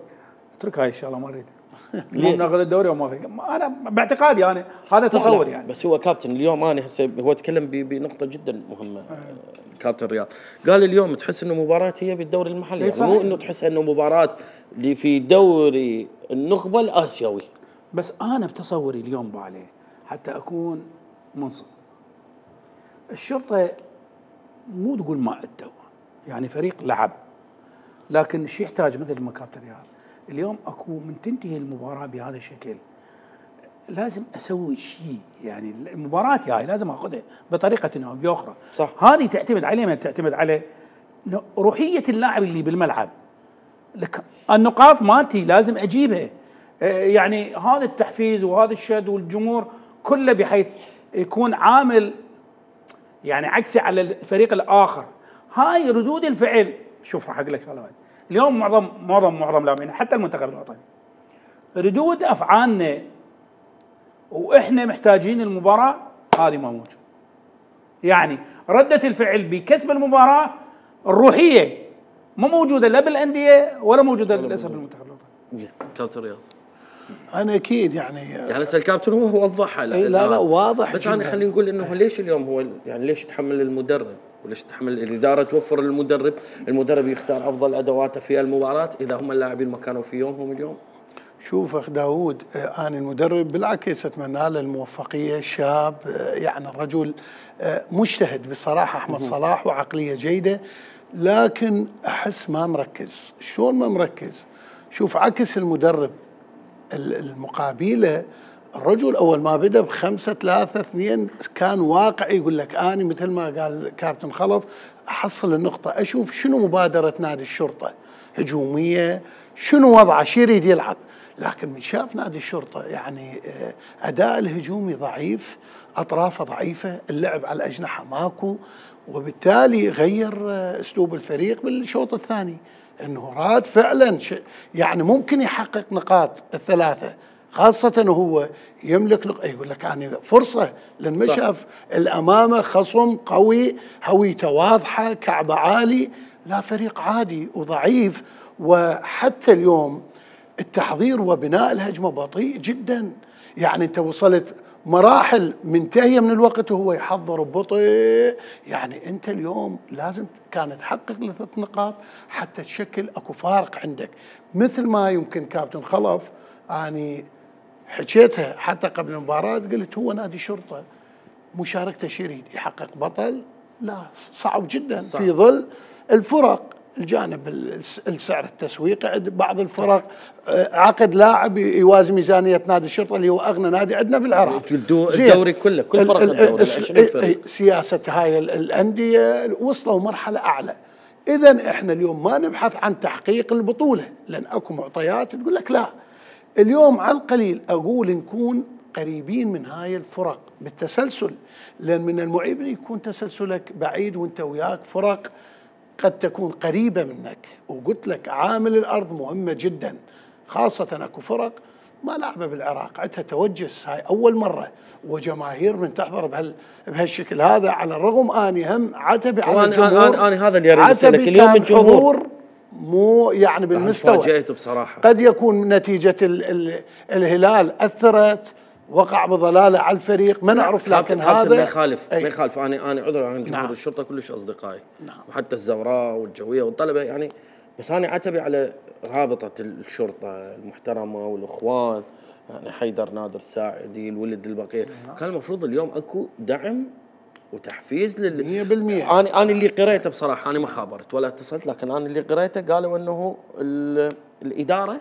Speaker 9: اترك هاي الشغله ما اريد. مو ناخذ الدوري وما انا باعتقادي انا هذا تصور يعني.
Speaker 1: بس هو كابتن اليوم انا هسه هو تكلم بنقطه جدا مهمه. أه. كابتن رياض قال اليوم تحس انه مباراه هي بالدوري المحلي، يعني مو انه تحس انه مباراه اللي في دوري النخبه الاسيوي.
Speaker 9: بس انا بتصوري اليوم بالي حتى اكون منصف، الشرطه مو تقول ما ادوا، يعني فريق لعب، لكن شو يحتاج مثل ما كابتن رياض اليوم اكو من تنتهي المباراه بهذا الشكل لازم اسوي شيء، يعني المباراه هاي لازم اخذها بطريقه او باخرى.
Speaker 1: صح.
Speaker 9: هذه تعتمد عليه من تعتمد على روحيه اللاعب اللي بالملعب. لك النقاط مالتي لازم اجيبها، يعني هذا التحفيز وهذا الشد والجمهور كله بحيث يكون عامل يعني عكسي على الفريق الاخر. هاي ردود الفعل. شوف راح اقول لك شغله واحده، اليوم معظم معظم معظم لاعبين حتى المنتخب الوطني ردود افعالنا واحنا محتاجين المباراه هذه ما موجود. يعني رده الفعل بكسب المباراه الروحيه ما موجوده لا بالانديه ولا موجوده للاسف بالمنتخب الوطني.
Speaker 1: كابتن رياض
Speaker 2: انا اكيد يعني
Speaker 1: يعني هسه الكابتن هو وضحها.
Speaker 2: لا لا, لا واضح،
Speaker 1: بس انا خلينا نقول انه ليش اليوم هو يعني ليش يتحمل المدرب وليش تحمل الاداره توفر للمدرب، المدرب يختار افضل ادواته في المباراه اذا هم اللاعبين ما كانوا في يومهم اليوم.
Speaker 2: شوف اخ داوود، انا المدرب بالعكس اتمنى له الموفقيه، شاب يعني الرجل مجتهد بصراحه احمد صلاح وعقليه جيده، لكن احس ما مركز. شلون ما مركز؟ شوف عكس المدرب المقابله، الرجل اول ما بدا بخمسه ثلاثه اثنين كان واقعي، يقول لك اني مثل ما قال كابتن خلف احصل النقطه، اشوف شنو مبادره نادي الشرطه، هجوميه، شنو وضعه، شو يريد يلعب. لكن من شاف نادي الشرطه يعني اداء الهجومي ضعيف، اطرافه ضعيفه، اللعب على الاجنحه ماكو، وبالتالي غير اسلوب الفريق بالشوط الثاني، انه راد فعلا يعني ممكن يحقق نقاط الثلاثه، خاصة وهو يملك نق... يقول لك يعني فرصة، لأن ما شاف الأمامة خصم قوي، هويته واضحة، كعبه عالي، لا فريق عادي وضعيف. وحتى اليوم التحضير وبناء الهجمة بطيء جدا، يعني أنت وصلت مراحل منتهية من الوقت وهو يحضر ببطء. يعني أنت اليوم لازم كانت تحقق ثلاث نقاط حتى تشكل أكو فارق عندك، مثل ما يمكن كابتن خلف يعني حكيتها حتى قبل المباراه، قلت هو نادي شرطه مشاركته شريد يحقق بطل؟ لا، صعب جدا صح. في ظل الفرق، الجانب السعر التسويقي عند بعض الفرق، عقد لاعب يوازي ميزانيه نادي الشرطه اللي هو اغنى نادي عندنا بالعراق،
Speaker 1: الدوري كله كل فرق الدوري عشرين فرق.
Speaker 2: سياسه هاي الانديه وصلوا مرحله اعلى. اذا احنا اليوم ما نبحث عن تحقيق البطوله، لان اكو معطيات تقول لك لا. اليوم على القليل اقول نكون قريبين من هاي الفرق بالتسلسل، لان من المعيب يكون تسلسلك بعيد وانت وياك فرق قد تكون قريبه منك. وقلت لك عامل الارض مهمه جدا، خاصه اكو فرق ما لعبه بالعراق عندها توجس، هاي اول مره وجماهير من تحضر بهال بهالشكل هذا. على الرغم اني هم عتبي على الجمهور،
Speaker 1: انا انا هذا اللي اريد اسالك اليوم. الجمهور
Speaker 2: مو يعني بالمستوى،
Speaker 1: فاجأته بصراحه.
Speaker 2: قد يكون نتيجه ال ال الهلال اثرت، وقع بضلاله على الفريق، ما نعرف. لكن هذا
Speaker 1: ما يخالف ما يخالف. انا انا عذر عن جمهور نعم. الشرطه كلش اصدقائي نعم. وحتى الزوراء والجويه والطلبه يعني، بس انا عتبي على رابطه الشرطه المحترمه والاخوان، يعني حيدر نادر الساعدي الولد البقيه نعم. كان المفروض اليوم اكو دعم وتحفيز لل
Speaker 2: مية بالمية.
Speaker 1: انا انا اللي قريته بصراحه، انا ما خابرت ولا اتصلت، لكن انا اللي قريته قالوا انه الاداره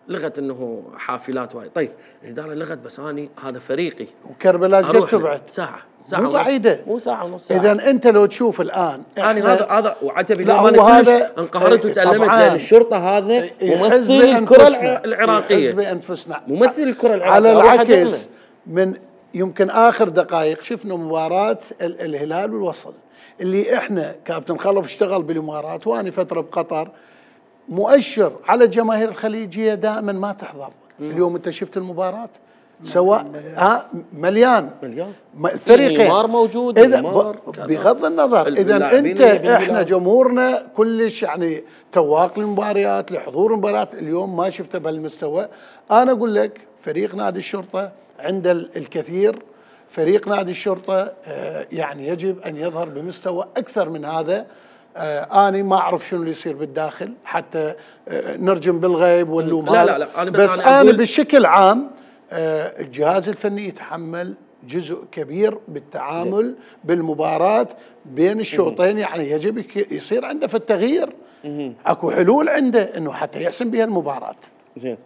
Speaker 1: لغت انه حافلات وايد. طيب الاداره لغت، بس اني هذا فريقي
Speaker 2: وكربلاء قد تبعد
Speaker 1: ساعه ساعه
Speaker 2: مو بعيده،
Speaker 1: مو ساعه ونص ساعه.
Speaker 2: اذا انت لو تشوف الان
Speaker 1: انا هذا هذا وعتبي لو انا كلش انقهرت وتألمت، لان الشرطه هذا ممثل الكره العراقيه،
Speaker 2: حزب انفسنا
Speaker 1: ممثل الكره العراقيه.
Speaker 2: على العكس، من يمكن اخر دقائق شفنا مباراه الهلال والوصل اللي احنا كابتن خلف اشتغل بالامارات وانا فتره بقطر، مؤشر على الجماهير الخليجيه دائما ما تحضر. مم. اليوم انت شفت المباراه سواء ها مليان
Speaker 1: مليان
Speaker 2: الفريقين،
Speaker 1: نيمار موجود،
Speaker 2: اذا بغض النظر اذا انت احنا جمهورنا كلش يعني تواق للمباريات لحضور المباريات، اليوم ما شفته بهالمستوى. انا اقول لك فريق نادي الشرطه عند الكثير، فريق نادي الشرطه يعني يجب ان يظهر بمستوى اكثر من هذا. آه أنا ما أعرف شنو اللي يصير بالداخل حتى آه نرجم بالغيب واللوم.
Speaker 1: لا لا لا أنا بس,
Speaker 2: بس أنا, أنا بشكل عام آه الجهاز الفني يتحمل جزء كبير بالتعامل زي. بالمباراة بين الشوطين، يعني يجب يصير عنده في التغيير أكو حلول عنده إنه حتى يحسم بها المباراة.
Speaker 1: زين.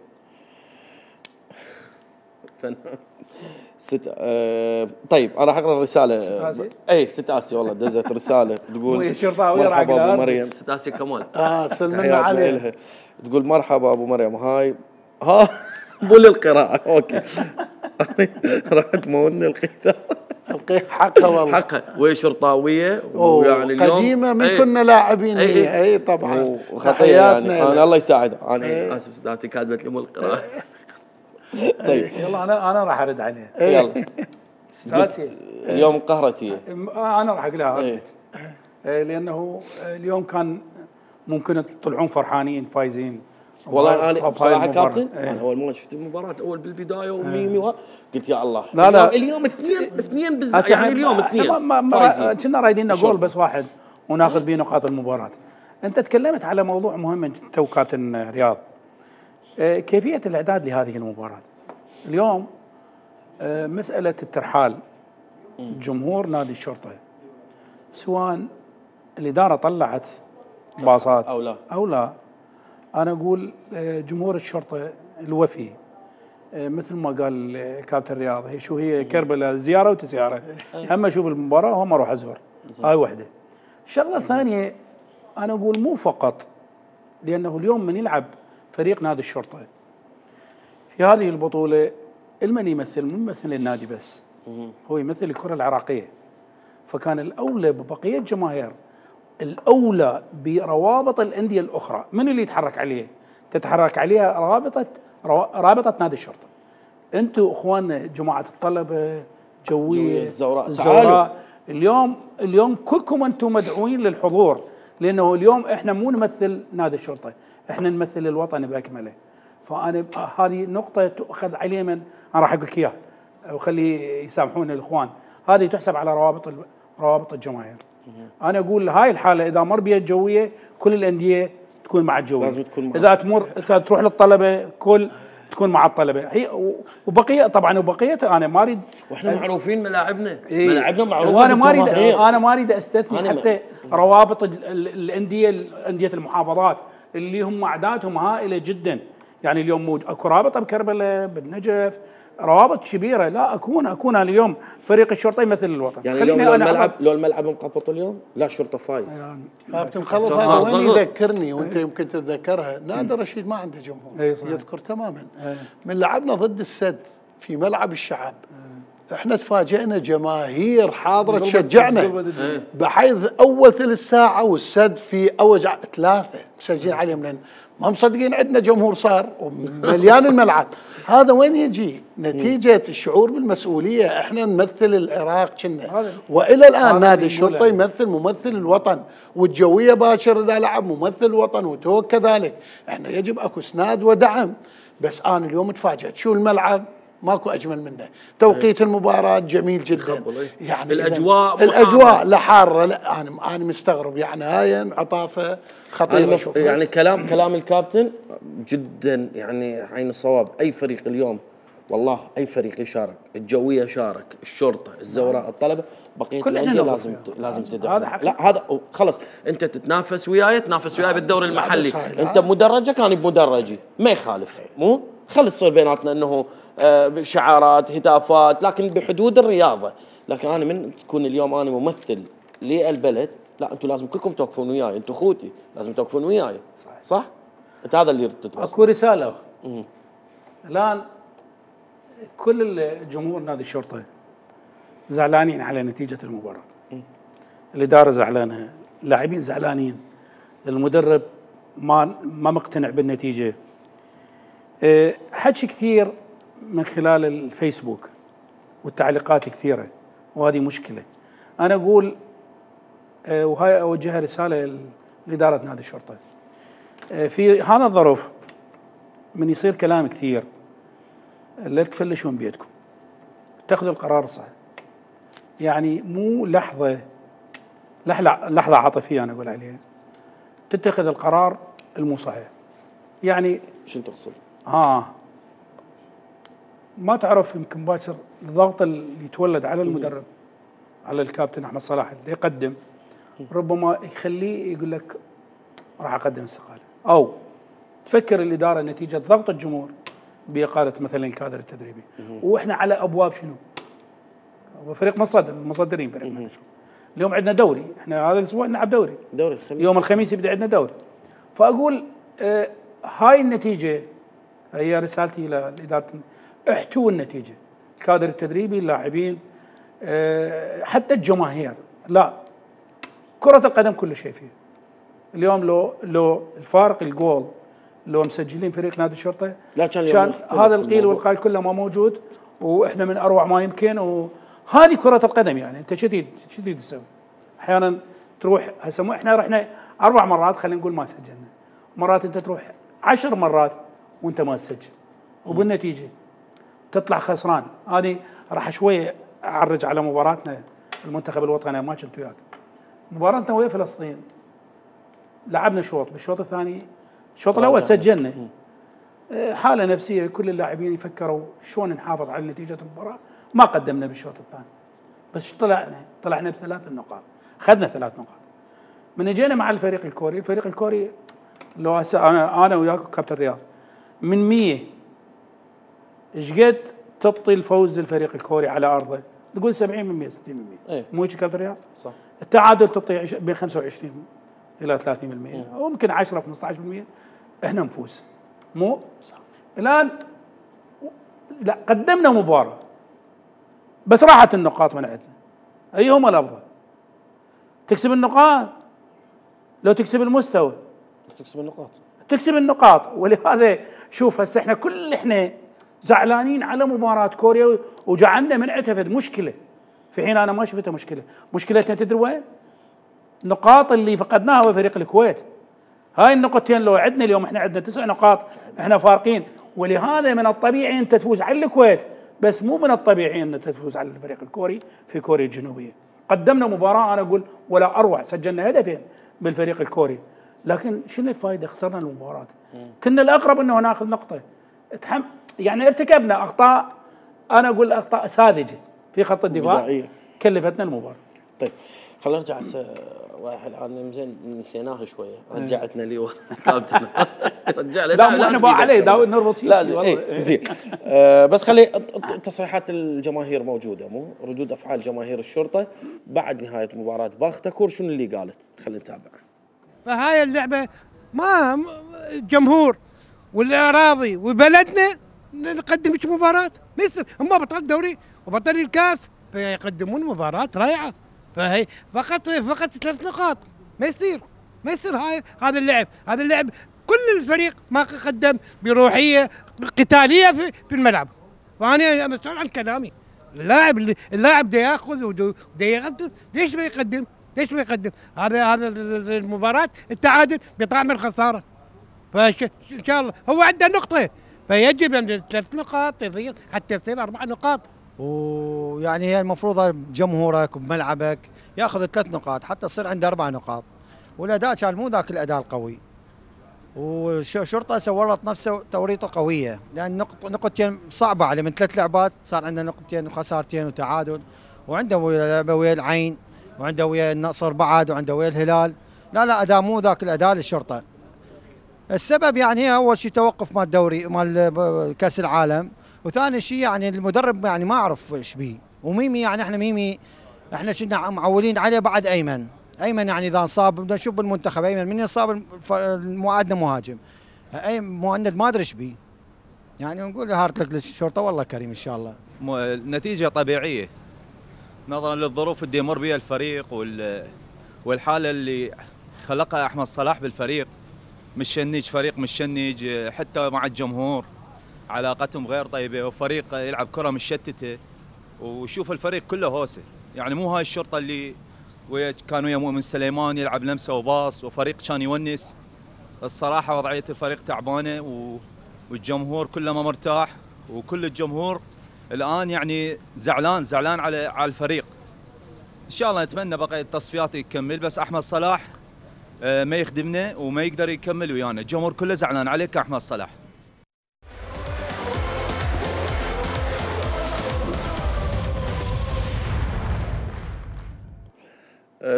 Speaker 1: ست آه طيب انا راح اقرا الرساله. ست اسيا؟ اي ست اسيا والله دزت رساله تقول مرحبا ابو مريم. ست اسيا كمال
Speaker 2: اه سلمنا عليها.
Speaker 1: تقول مرحبا ابو مريم، هاي ها مو للقراءه اوكي. راح تموتني القيثار.
Speaker 2: القيث حقها والله
Speaker 1: حقها، وهي شرطاويه ويعني اليوم
Speaker 2: قديمه من ايه كنا لاعبين اي, اي طبعا
Speaker 1: وخطيه يعني. انا الله يساعدها، انا ايه اسف سداتي كاتبت لي مو القراءه.
Speaker 9: طيب يلا انا انا راح ارد عليها.
Speaker 1: يلا اليوم قهرت هي.
Speaker 9: انا راح اقول لها ايه. لانه اليوم كان ممكن تطلعون فرحانين فايزين.
Speaker 1: والله انا بصراحه كابتن ايه. انا اول ما شفت المباراه اول بالبدايه وميمي قلت يا الله
Speaker 9: لا لا
Speaker 1: اليوم اثنين اثنين بالز... يعني اليوم اثنين
Speaker 9: فايزين. كنا رايدين جول بس واحد وناخذ به نقاط المباراه. انت تكلمت على موضوع مهم تو كابتن رياض، كيفية الإعداد لهذه المباراة. اليوم مسألة الترحال جمهور نادي الشرطة، سواء الإدارة طلعت باصات
Speaker 1: أو لا
Speaker 9: أو لا، أنا أقول جمهور الشرطة الوفي مثل ما قال كابتن رياض، هي شو هي كربلاء زيارة وتزيارة، أما أشوف المباراة وهم أروح أزور. هاي واحدة. الشغلة الثانية أنا أقول مو فقط لأنه اليوم من يلعب فريق نادي الشرطة في هذه البطولة، المن يمثل مو يمثل النادي بس، هو يمثل الكرة العراقية، فكان الأولى ببقية جماهير، الأولى بروابط الأندية الأخرى. من اللي يتحرك عليه؟ تتحرك عليها رابطة رابطة نادي الشرطة. أنتم إخواننا جماعة الطلبة جوية
Speaker 1: الزوراء,
Speaker 9: الزوراء. اليوم اليوم كلكم أنتم مدعوين للحضور، لأنه اليوم إحنا مو نمثل نادي الشرطة، احنا نمثل الوطن باكمله. فانا هذه نقطه تؤخذ عليه، من انا راح اقول لك اياها وخلي يسامحوني الاخوان، هذه تحسب على روابط روابط الجماهير. انا اقول هاي الحاله اذا مر بها الجويه كل الانديه تكون مع الجويه،
Speaker 1: لازم تكون مع.
Speaker 9: اذا تمر اذا تروح للطلبه كل تكون معطله هي وبقيه طبعا وبقيتها انا ما اريد.
Speaker 1: واحنا معروفين ملاعبنا،
Speaker 9: إيه
Speaker 1: ملاعبنا معروفه.
Speaker 9: وانا ما اريد انا ما اريد استثني حتى روابط الانديه انديه المحافظات اللي هم اعدادهم هائله جدا. يعني اليوم اكو رابطه بكربلاء بالنجف، روابط كبيره. لا اكون اكون اليوم فريق الشرطه يمثل الوطن.
Speaker 1: يعني اليوم لو الملعب لو الملعب مقبط اليوم لا الشرطه فايز.
Speaker 2: كابتن خلف هذا وين يذكرني وانت يمكن تتذكرها، نادر رشيد ما عنده جمهور يذكر تماما. من لعبنا ضد السد في ملعب الشعب احنا تفاجئنا جماهير حاضره تشجعنا بحيث اول ثلث ساعه والسد في اوجع ثلاثه مسجلين عليهم لان ما مصدقين عندنا جمهور صار ومليان الملعب. هذا وين يجي؟ نتيجه الشعور بالمسؤوليه. احنا نمثل العراق كنا، والى الان نادي الشرطه يمثل ممثل الوطن، والجويه باشر اذا لعب ممثل الوطن وتو كذلك. احنا يجب اكو اسناد ودعم. بس انا اليوم تفاجأت شو الملعب ماكو اجمل منه، توقيت المباراه جميل جدا، يعني
Speaker 1: الاجواء
Speaker 2: الاجواء لا حاره. لا انا انا مستغرب يعني هاي عطافه خطيره.
Speaker 1: يعني كلام كلام الكابتن جدا يعني عين الصواب. اي فريق اليوم والله اي فريق يشارك، الجويه شارك، الشرطه، الزوراء، الطلبه، بقيه الانديه لازم لازم تدعم. لا هذا خلص انت تتنافس وياي تنافس وياي بالدوري المحلي، انت بمدرجك انا بمدرجي ما يخالف، مو خلي تصير بيناتنا انه شعارات هتافات لكن بحدود الرياضه. لكن انا من تكون اليوم انا ممثل للبلد، لا انتم لازم كلكم توقفون وياي، انتم اخوتي لازم توقفون وياي. صح صح؟ انت هذا اللي تتوصل.
Speaker 9: اكو رساله الان كل الجمهور نادي الشرطه زعلانين على نتيجه المباراه. الاداره زعلانه، اللاعبين زعلانين، المدرب ما ما مقتنع بالنتيجه. حكي كثير من خلال الفيسبوك والتعليقات كثيره وهذه مشكله. انا اقول وهاي اوجهها رساله لاداره نادي الشرطه. في هذا الظرف من يصير كلام كثير لا تفلشون بيدكم، اتخذوا القرار الصحيح. يعني مو لحظه لحظه لحظه عاطفيه انا اقول عليها، تتخذ القرار المو صحيح. يعني
Speaker 1: شو تقصد؟
Speaker 9: اه ما تعرف يمكن باكر الضغط اللي يتولد على المدرب على الكابتن احمد صلاح اللي يقدم ربما يخليه يقول لك راح اقدم استقاله، او تفكر الاداره نتيجه ضغط الجمهور باقاله مثلا الكادر التدريبي. واحنا على ابواب شنو؟ فريق مصدر مصدرين فريق نادي الشرطه. اليوم عندنا دوري، احنا هذا الاسبوع نلعب دوري
Speaker 1: دوري الخميس،
Speaker 9: يوم الخميس يبدا عندنا دوري. فاقول آه هاي النتيجه هي رسالتي لاداره، احتووا النتيجه، الكادر التدريبي، اللاعبين، أه حتى الجماهير. لا كرة القدم كل شيء فيها. اليوم لو لو الفارق الجول لو مسجلين فريق نادي الشرطه
Speaker 1: لا كان,
Speaker 9: كان هذا القيل والقال كله ما موجود واحنا من اروع ما يمكن. وهذه كرة القدم يعني انت شديد شديد تسوي. احيانا تروح هسه احنا رحنا اربع مرات خلينا نقول ما سجلنا، مرات انت تروح عشر مرات وانت ما تسجل وبالنتيجه تطلع خسران. هذه راح شويه اعرج على مباراتنا المنتخب الوطني ما كنت وياك. مباراتنا ويا فلسطين لعبنا شوط، بالشوط الثاني الشوط الاول سجلنا. حاله نفسيه كل اللاعبين يفكروا شلون نحافظ على نتيجه المباراه، ما قدمنا بالشوط الثاني بس طلعنا طلعنا بثلاث نقاط، اخذنا ثلاث نقاط. من اجينا مع الفريق الكوري، الفريق الكوري لو هسه انا انا وياك كابتن رياض من مية ايش قد تبطي الفوز للفريق الكوري على ارضه؟ تقول سبعين بالمئة ستين بالمئة.
Speaker 1: ايه
Speaker 9: مو هيك كابتن رياض؟
Speaker 1: صح.
Speaker 9: التعادل تبطي بين خمسة وعشرين الى ثلاثين بالمئة او ممكن عشرة خمسة عشر بالمئة احنا نفوز. مو صح. الان لا قدمنا مباراه بس راحت النقاط من عندنا. ايهما الافضل؟ تكسب النقاط لو تكسب المستوى؟
Speaker 1: تكسب النقاط.
Speaker 9: تكسب النقاط. ولهذا شوف هسه احنا كل احنا زعلانين على مباراة كوريا وجعلنا من عتفد مشكلة، في حين انا ما شفتها مشكلة. مشكلتنا تدري وين؟ نقاط اللي فقدناها وفريق الكويت. هاي النقطتين لو عندنا اليوم احنا عندنا تسع نقاط احنا فارقين. ولهذا من الطبيعي انت تفوز على الكويت بس مو من الطبيعي ان تفوز على الفريق الكوري في كوريا الجنوبية. قدمنا مباراة انا اقول ولا اروع، سجلنا هدفين بالفريق الكوري، لكن شنو الفائدة؟ خسرنا المباراة. كنا الاقرب انه ناخذ نقطة. يعني ارتكبنا اخطاء، انا اقول اخطاء ساذجه في خط الدفاع
Speaker 1: بدائية.
Speaker 9: كلفتنا المباراه.
Speaker 1: طيب خلينا نرجع هسه رايح الان زين نسيناه شويه، رجعتنا لي ورا كابتن. رجع لي
Speaker 9: لا مو احنا بقى عليه داود نربط
Speaker 1: لازم اي زين. آه بس خلي تصريحات الجماهير موجوده، مو ردود افعال جماهير الشرطه بعد نهايه مباراه باختكور، شنو اللي قالت؟ خلينا نتابع.
Speaker 10: فهاي اللعبه ما جمهور والاراضي وبلدنا نقدمش مباراه، ما يصير هم بطل دوري وبطل الكاس فيقدمون مباراه رائعه، فهي فقط فقط ثلاث نقاط، ما يصير ما يصير هاي هذا اللعب، هذا اللعب كل الفريق ما قدم بروحيه قتاليه في, في الملعب. فانا انا مسؤول عن كلامي، اللاعب اللاعب بده ياخذ وبده يقدم، ليش ما يقدم؟ ليش ما يقدم؟ هذا هذا المباراه التعادل بطعم الخساره. فان شاء الله هو عنده نقطه، فيجب ان ثلاث نقاط تضيع حتى يصير اربع نقاط.
Speaker 11: ويعني هي المفروض جمهورك وبملعبك ياخذ ثلاث نقاط حتى تصير عنده اربع نقاط، والاداء كان مو ذاك الاداء القوي، والشرطه سورت نفسه توريطه قويه، لان نقط نقطتين صعبه عليه من ثلاث لعبات، صار عندنا نقطتين وخسارتين وتعادل، وعنده ويا لعبه ويا العين، وعنده ويا النصر بعد، وعنده ويا الهلال، لا لا اداء مو ذاك الاداء للشرطه. السبب يعني هي اول شيء توقف مال الدوري مال كاس العالم، وثاني شيء يعني المدرب يعني ما اعرف ايش بيه، وميمي يعني احنا ميمي احنا كنا معولين عليه بعد ايمن، ايمن يعني اذا انصاب بدنا نشوف بالمنتخب ايمن من يصاب المعادنا مهاجم، اي مهند ما ادري ايش بيه. يعني نقول هارت لك للشرطه والله كريم ان شاء الله.
Speaker 12: النتيجه طبيعيه نظرا للظروف اللي يمر بها الفريق والحاله اللي خلقها احمد صلاح بالفريق، مشنج فريق مشنج حتى مع الجمهور علاقتهم غير طيبه، وفريق يلعب كره مشتته، وشوف الفريق كله هوسه، يعني مو هاي الشرطه اللي ويا كان ويا مؤمن سليمان يلعب لمسه وباص وفريق كان يونس. الصراحه وضعيه الفريق تعبانه والجمهور كله ما مرتاح، وكل الجمهور الان يعني زعلان زعلان على على الفريق. ان شاء الله نتمنى بقى التصفيات يكمل، بس احمد صلاح ما يخدمنا وما يقدر يكمل ويانا، الجمهور كله زعلان عليك يا احمد صلاح.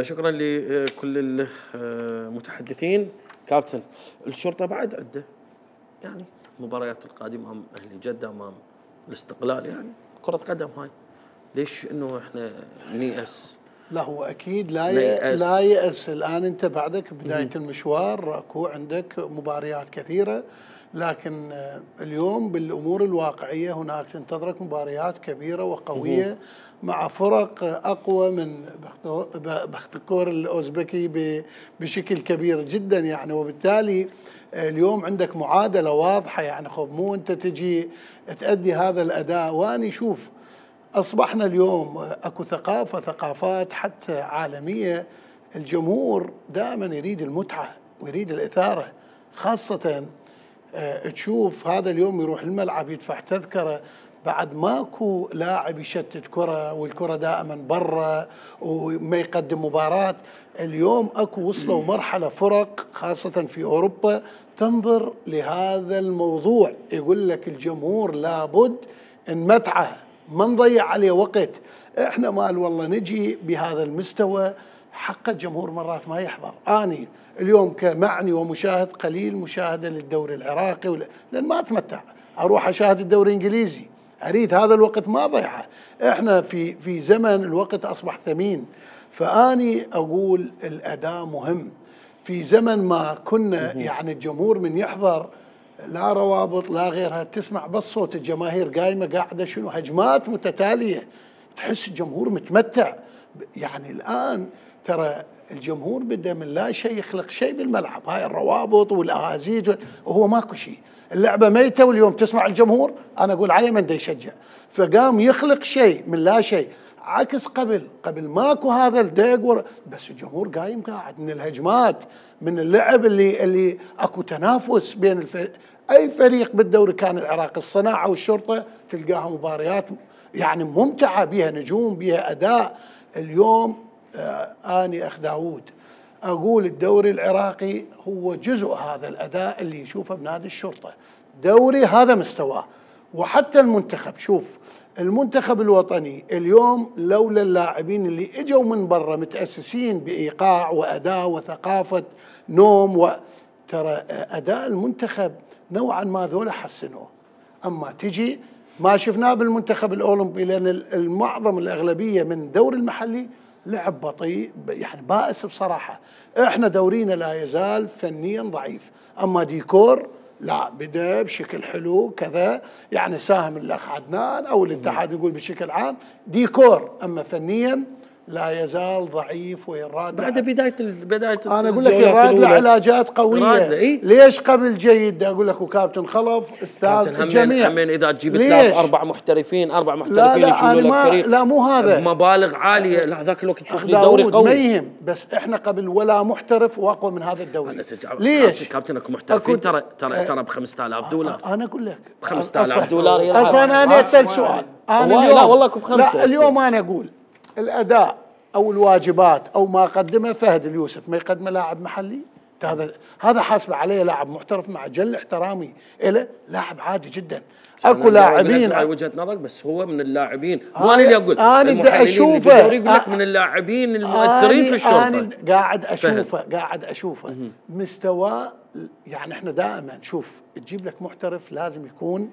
Speaker 1: شكرا لكل المتحدثين. كابتن الشرطه بعد عده يعني مباريات القادمه امام اهلي جده، امام الاستقلال، يعني كره قدم هاي، ليش انه احنا نيأس؟
Speaker 2: لا هو اكيد لا يأس. لا يأس. الان انت بعدك بدايه المشوار، اكو عندك مباريات كثيره، لكن اليوم بالامور الواقعيه هناك تنتظرك مباريات كبيره وقويه مع فرق اقوى من بختكور الاوزبكي بشكل كبير جدا يعني، وبالتالي اليوم عندك معادله واضحه يعني. خب مو انت تجي تأدي هذا الاداء، واني شوف اصبحنا اليوم اكو ثقافه ثقافات حتى عالميه، الجمهور دائما يريد المتعه ويريد الاثاره، خاصه تشوف هذا اليوم يروح الملعب يدفع تذكره بعد ماكو لاعب يشتت كره، والكره دائما برا وما يقدم مباراه. اليوم اكو وصلوا مرحله فرق خاصه في اوروبا تنظر لهذا الموضوع، يقول لك الجمهور لابد نمتعه ما نضيع عليه وقت. احنا مال والله نجي بهذا المستوى، حق الجمهور مرات ما يحضر. اني اليوم كمعني ومشاهد قليل مشاهده للدوري العراقي ولا لان ما اتمتع، اروح اشاهد الدوري الانجليزي، اريد هذا الوقت ما ضيعه. احنا في في زمن الوقت اصبح ثمين، فاني اقول الاداء مهم. في زمن ما كنا يعني الجمهور من يحضر لا روابط لا غيرها، تسمع بس صوت الجماهير قايمه قاعده شنو هجمات متتاليه، تحس الجمهور متمتع. يعني الان ترى الجمهور بده من لا شيء يخلق شيء بالملعب، هاي الروابط والاهازيج وهو ماكو شيء، اللعبه ميته واليوم تسمع الجمهور، انا اقول عليه من دا يشجع، فقام يخلق شيء من لا شيء. عكس قبل قبل ماكو هذا الدق، بس الجمهور قايم قاعد من الهجمات، من اللعب اللي اللي اكو تنافس بين الفريق. اي فريق بالدوري كان العراق، الصناعه والشرطه تلقاها مباريات يعني ممتعه بها نجوم بها اداء. اليوم آه اني اخ داوود اقول الدوري العراقي هو جزء هذا الاداء اللي يشوفه بنادي الشرطه، دوري هذا مستواه، وحتى المنتخب. شوف المنتخب الوطني اليوم لولا اللاعبين اللي اجوا من برا متأسسين بإيقاع وأداء وثقافة نوم و... ترى أداء المنتخب نوعا ما ذولا حسنوه. أما تجي ما شفناه بالمنتخب الأولمبي، لأن المعظم الأغلبية من الدور المحلي لعب بطيء يعني بائس بصراحة. احنا دورينا لا يزال فنيا ضعيف، أما ديكور لا بدا بشكل حلو كذا، يعني ساهم الأخ عدنان أو الاتحاد يقول بشكل عام ديكور، أما فنيا لا يزال ضعيف ويراد.
Speaker 1: بعد بدايه بدايه
Speaker 2: انا اقول لك يراد له علاجات قويه.
Speaker 1: إيه؟
Speaker 2: ليش قبل جيد اقول لك وكابتن خلف استاذ الجميع.
Speaker 1: همين اذا تجيب ثلاث اربع محترفين اربع محترفين
Speaker 2: لا لا
Speaker 1: يشيلوا لك فريق
Speaker 2: لا مو هذا
Speaker 1: مبالغ عاليه. لا ذاك الوقت تشوف لي دوري قوي
Speaker 2: ما يهم، بس احنا قبل ولا محترف واقوى من هذا الدوري. ليش؟
Speaker 1: كابتن اكو محترفين ترى ترى ترى ب خمسة آلاف دولار.
Speaker 2: انا اقول لك
Speaker 1: ب خمسة آلاف دولار يلعب.
Speaker 2: اصلا انا اسال سؤال انا
Speaker 1: اليوم لا والله اكو بخمسه.
Speaker 2: لا اليوم انا اقول الاداء او الواجبات او ما قدمه فهد اليوسف ما يقدمه لاعب محلي. هذا هذا حاسبه عليه لاعب محترف مع جل احترامي له، لاعب عادي جدا. اكو لاعبين
Speaker 1: هاي وجهه نظرك، بس هو من اللاعبين مو انا اللي اقول.
Speaker 2: انا بدي اشوفه
Speaker 1: يقول لك من اللاعبين المؤثرين في الشرطه.
Speaker 2: انا قاعد اشوفه قاعد اشوفه مستواه. يعني احنا دائما شوف تجيب لك محترف لازم يكون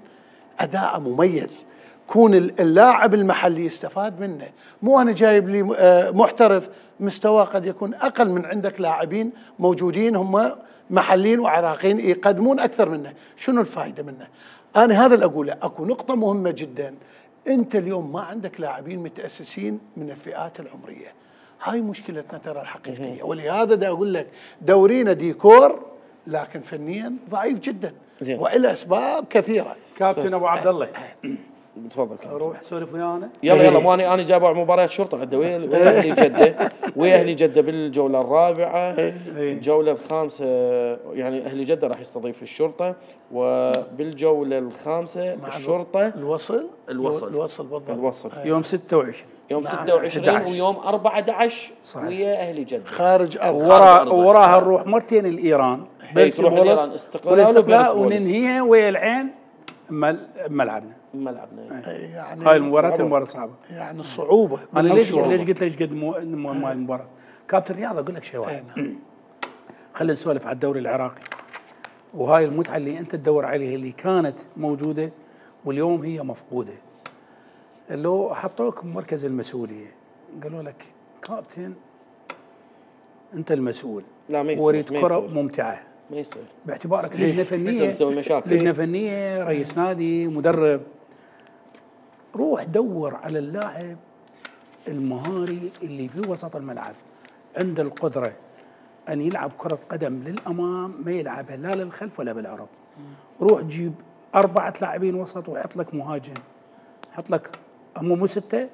Speaker 2: اداءه مميز، كون اللاعب المحلي يستفاد منه. مو انا جايب لي محترف مستواه قد يكون اقل من عندك لاعبين موجودين هم محليين وعراقيين يقدمون اكثر منه، شنو الفائده منه؟ انا هذا اللي اقوله. اكو نقطه مهمه جدا، انت اليوم ما عندك لاعبين متاسسين من الفئات العمريه، هاي مشكلتنا ترى الحقيقيه. ولهذا دا اقول لك دورينا ديكور لكن فنيا ضعيف جدا والى اسباب كثيره.
Speaker 9: كابتن ابو عبد الله
Speaker 1: تفضل.
Speaker 9: روح سولف ويانا.
Speaker 1: يلا يلا مو انا انا جايب مباريات شرطه عندي ويا اهلي جده ويا اهلي جده بالجوله الرابعه. الجوله الخامسه يعني اهلي جده راح يستضيف الشرطه، وبالجوله الخامسه الشرطه
Speaker 2: الوصل
Speaker 1: الوصل
Speaker 2: الوصل بالضبط
Speaker 1: الوصل
Speaker 9: يوم ستة وعشرين
Speaker 1: يوم ستة وعشرين ويوم أربعة عشر ويا اهلي جده
Speaker 2: خارج ارض.
Speaker 9: ورا وراها نروح مرتين الايران
Speaker 1: تروح الايران
Speaker 9: استقلال وننهيها ويا العين ملعبنا
Speaker 1: ملعبنا.
Speaker 2: يعني
Speaker 9: هاي المباراة المباراة صعبة.
Speaker 2: يعني الصعوبة.
Speaker 9: أنا ليش ليش قلت ليش قد مو مو المباراة؟ كابتن رياض أقول لك شيء واحد. خلينا نسولف على الدوري العراقي. وهاي المتعة اللي أنت تدور عليها اللي كانت موجودة واليوم هي مفقودة. لو حطوك بمركز المسؤولية قالوا لك كابتن أنت المسؤول.
Speaker 1: لا ما يصير.
Speaker 9: وريد كرة ممتعة.
Speaker 1: ما يصير
Speaker 9: باعتبارك لجنه فنيه
Speaker 1: يسوي مشاكل.
Speaker 9: لجنه فنيه رئيس نادي مدرب، روح دور على اللاعب المهاري اللي في وسط الملعب عنده القدره ان يلعب كره قدم للامام، ما يلعبها لا للخلف ولا بالعرض. روح جيب اربعه لاعبين وسط وحط لك مهاجم، حط لك هم مو سته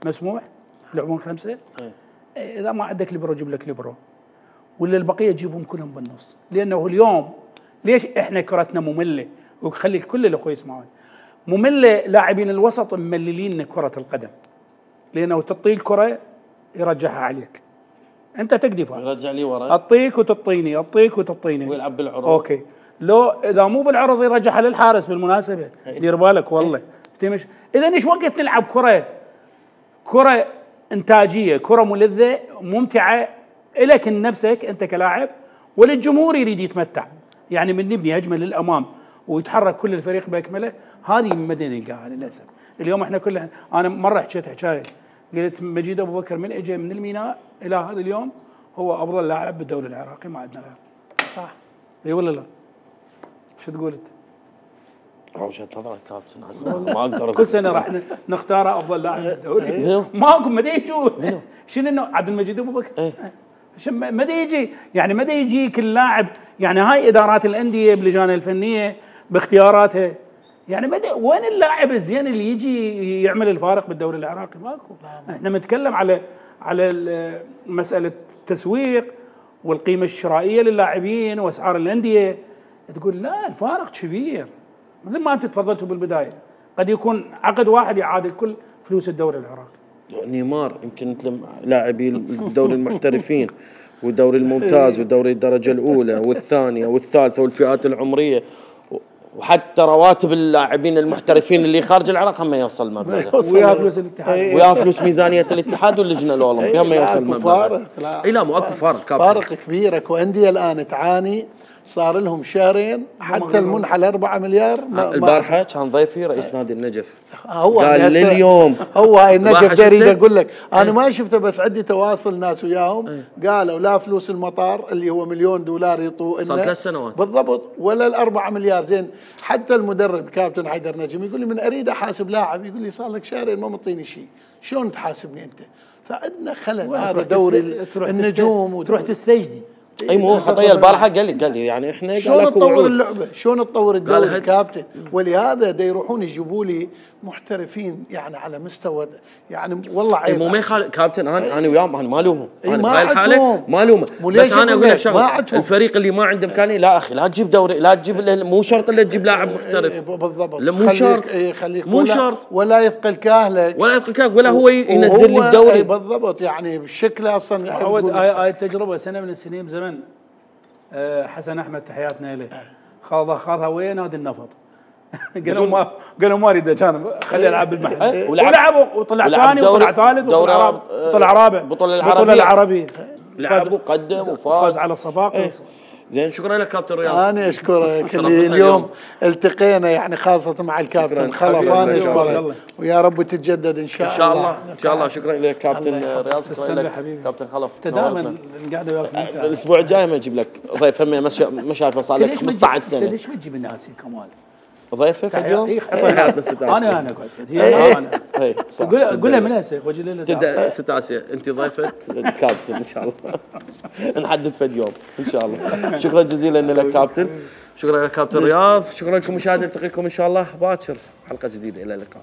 Speaker 9: مسموح يلعبون خمسه. اذا ما عندك ليبرو جيب لك ليبرو، ولا البقيه جيبهم كلهم بالنص. لانه اليوم ليش احنا كرتنا ممله؟ وخلي الكل الاخوه يسمعون ممله. لاعبين الوسط ممللين كره القدم، لانه تعطيه الكره يرجعها عليك، انت تقدي فيها
Speaker 1: يرجع لي ورا،
Speaker 9: اعطيك وتعطيني اعطيك وتعطيني
Speaker 1: ويلعب بالعرض.
Speaker 9: اوكي، لو اذا مو بالعرض يرجعها للحارس. بالمناسبه دير بالك والله تمش. اذا ايش وقت نلعب كره كره انتاجيه، كره ملذه ممتعه إلك نفسك أنت كلاعب وللجمهور يريد يتمتع. يعني من نبني هجمة للأمام ويتحرك كل الفريق بأكمله، هذه ما نلقاها للأسف. اليوم احنا كلنا، أنا مرة حكيت حكاية قلت مجيد أبو بكر من اجى من الميناء إلى هذا اليوم هو أفضل لاعب بالدوري العراقي، ما عندنا غير.
Speaker 2: صح.
Speaker 9: اي ولا لا؟ شو تقول أنت؟
Speaker 1: وجهة نظرك كابتن، ما اقدر
Speaker 9: كل سنه راح نختاره افضل لاعب بالدوري. ماكو ما يجون. شنو انه عبد المجيد ابو بكر؟ ما يجي، يعني ما يجيك اللاعب. يعني هاي ادارات الانديه بلجان الفنيه باختياراتها، يعني ما وين اللاعب الزين اللي يجي يعمل الفارق بالدوري العراقي؟ ماكو. احنا بنتكلم على على مساله التسويق والقيمه الشرائيه للاعبين واسعار الانديه. تقول لا الفارق كبير، مثل ما انت تفضلتوا بالبدايه، قد يكون عقد واحد يعادل كل فلوس الدوري العراقي.
Speaker 1: نيمار يمكن مثل لاعبي الدوري المحترفين والدوري الممتاز والدوري الدرجه الاولى والثانيه والثالثه والفئات العمريه وحتى رواتب اللاعبين المحترفين اللي خارج العراق هم يوصل مبلغ،
Speaker 9: ويا فلوس الاتحاد،
Speaker 1: ويا فلوس ميزانيه الاتحاد واللجنه الاولمبيه هم يوصل مبلغ.
Speaker 2: لا
Speaker 1: اي لا مو اكو فارق كابتن.
Speaker 2: فارق كبير. اكو انديه الان تعاني، صار لهم شهرين حتى المنحه الأربعة مليار.
Speaker 1: البارحه كان ضيفي رئيس نادي النجف،
Speaker 2: هو
Speaker 1: قال لليوم
Speaker 2: هو هاي النجف ده اريد اقول لك انا ايه؟ ما شفته بس عندي تواصل ناس وياهم ايه؟ قالوا لا فلوس المطار اللي هو مليون دولار يطوه
Speaker 1: صار ثلاث سنوات
Speaker 2: بالضبط، ولا الأربعة مليار. زين حتى المدرب كابتن حيدر نجم يقول لي من اريد احاسب لاعب يقول لي صار لك شهرين ما مطيني شيء، شلون تحاسبني انت؟ فعندنا خلل. هذا دوري النجوم
Speaker 9: وتروح تستجدي.
Speaker 1: اي مو خطيه. البارحه قال لي قال لي يعني احنا
Speaker 2: شلون تطور اللعبه؟ شلون تطور الدوري كابتن؟ ولهذا دا يروحون يجيبوا لي محترفين يعني على مستوى يعني والله عيب.
Speaker 1: مو ما يخالف كابتن، انا انا وياهم انا ما الومهم،
Speaker 2: انا
Speaker 1: بهاي الحاله ما الومه، بس انا اقول لك شغله، الفريق اللي ما عنده امكانيه لا اخي لا تجيب دوري، لا تجيب مو شرط الا تجيب لاعب محترف.
Speaker 2: بالضبط
Speaker 1: مو شرط
Speaker 2: خليك
Speaker 1: مو شرط
Speaker 2: ولا يثقل كاهلك
Speaker 1: ولا يثقل كاهلك ولا هو ينزل لي الدوري.
Speaker 2: بالضبط يعني بالشكل اصلا.
Speaker 9: عود هاي التجربه سنه من السنين زمن حسن احمد تحياتنا اليه خاضها خاضها ويا نادي النفط. قالوا ما قالوا ما اريد كان خليه يلعب بالمحل ولعب وطلع ثاني وطلع ثالث وطلع رابع
Speaker 1: بطوله العربيه
Speaker 9: العربيه
Speaker 1: لعب وقدم وفاز
Speaker 9: على الصفاقس.
Speaker 1: زين شكرا لك كابتن رياض.
Speaker 2: انا اشكرك اللي اليوم التقينا يعني خاصه مع الكابتن خلف. انا اشكرك ويا رب تتجدد ان شاء الله.
Speaker 1: ان شاء الله ان شاء الله. شكرا لك كابتن رياض. شكرا لك كابتن خلف.
Speaker 9: انت دائما القعده وياك ممتعه.
Speaker 1: الاسبوع الجاي ما اجيب لك ضيف هم ما شايفه صار لك خمسة عشر سنه.
Speaker 9: ليش ما تجيب الناس كمال؟
Speaker 1: ضيفه في اليوم
Speaker 9: حياتنا ستة انا انا قلت هي انا
Speaker 1: اي
Speaker 9: قول قولها من هسه وجه ليله
Speaker 1: تبدا ستة آسيا انت ضيفه الكابتن ان شاء الله. نحدد فد يوم ان شاء الله. شكرا جزيلا لك كابتن. شكرا لك كابتن رياض. شكرا لكم مشاهدينا، نلتقيكم ان شاء الله باكر حلقه جديده. الى اللقاء.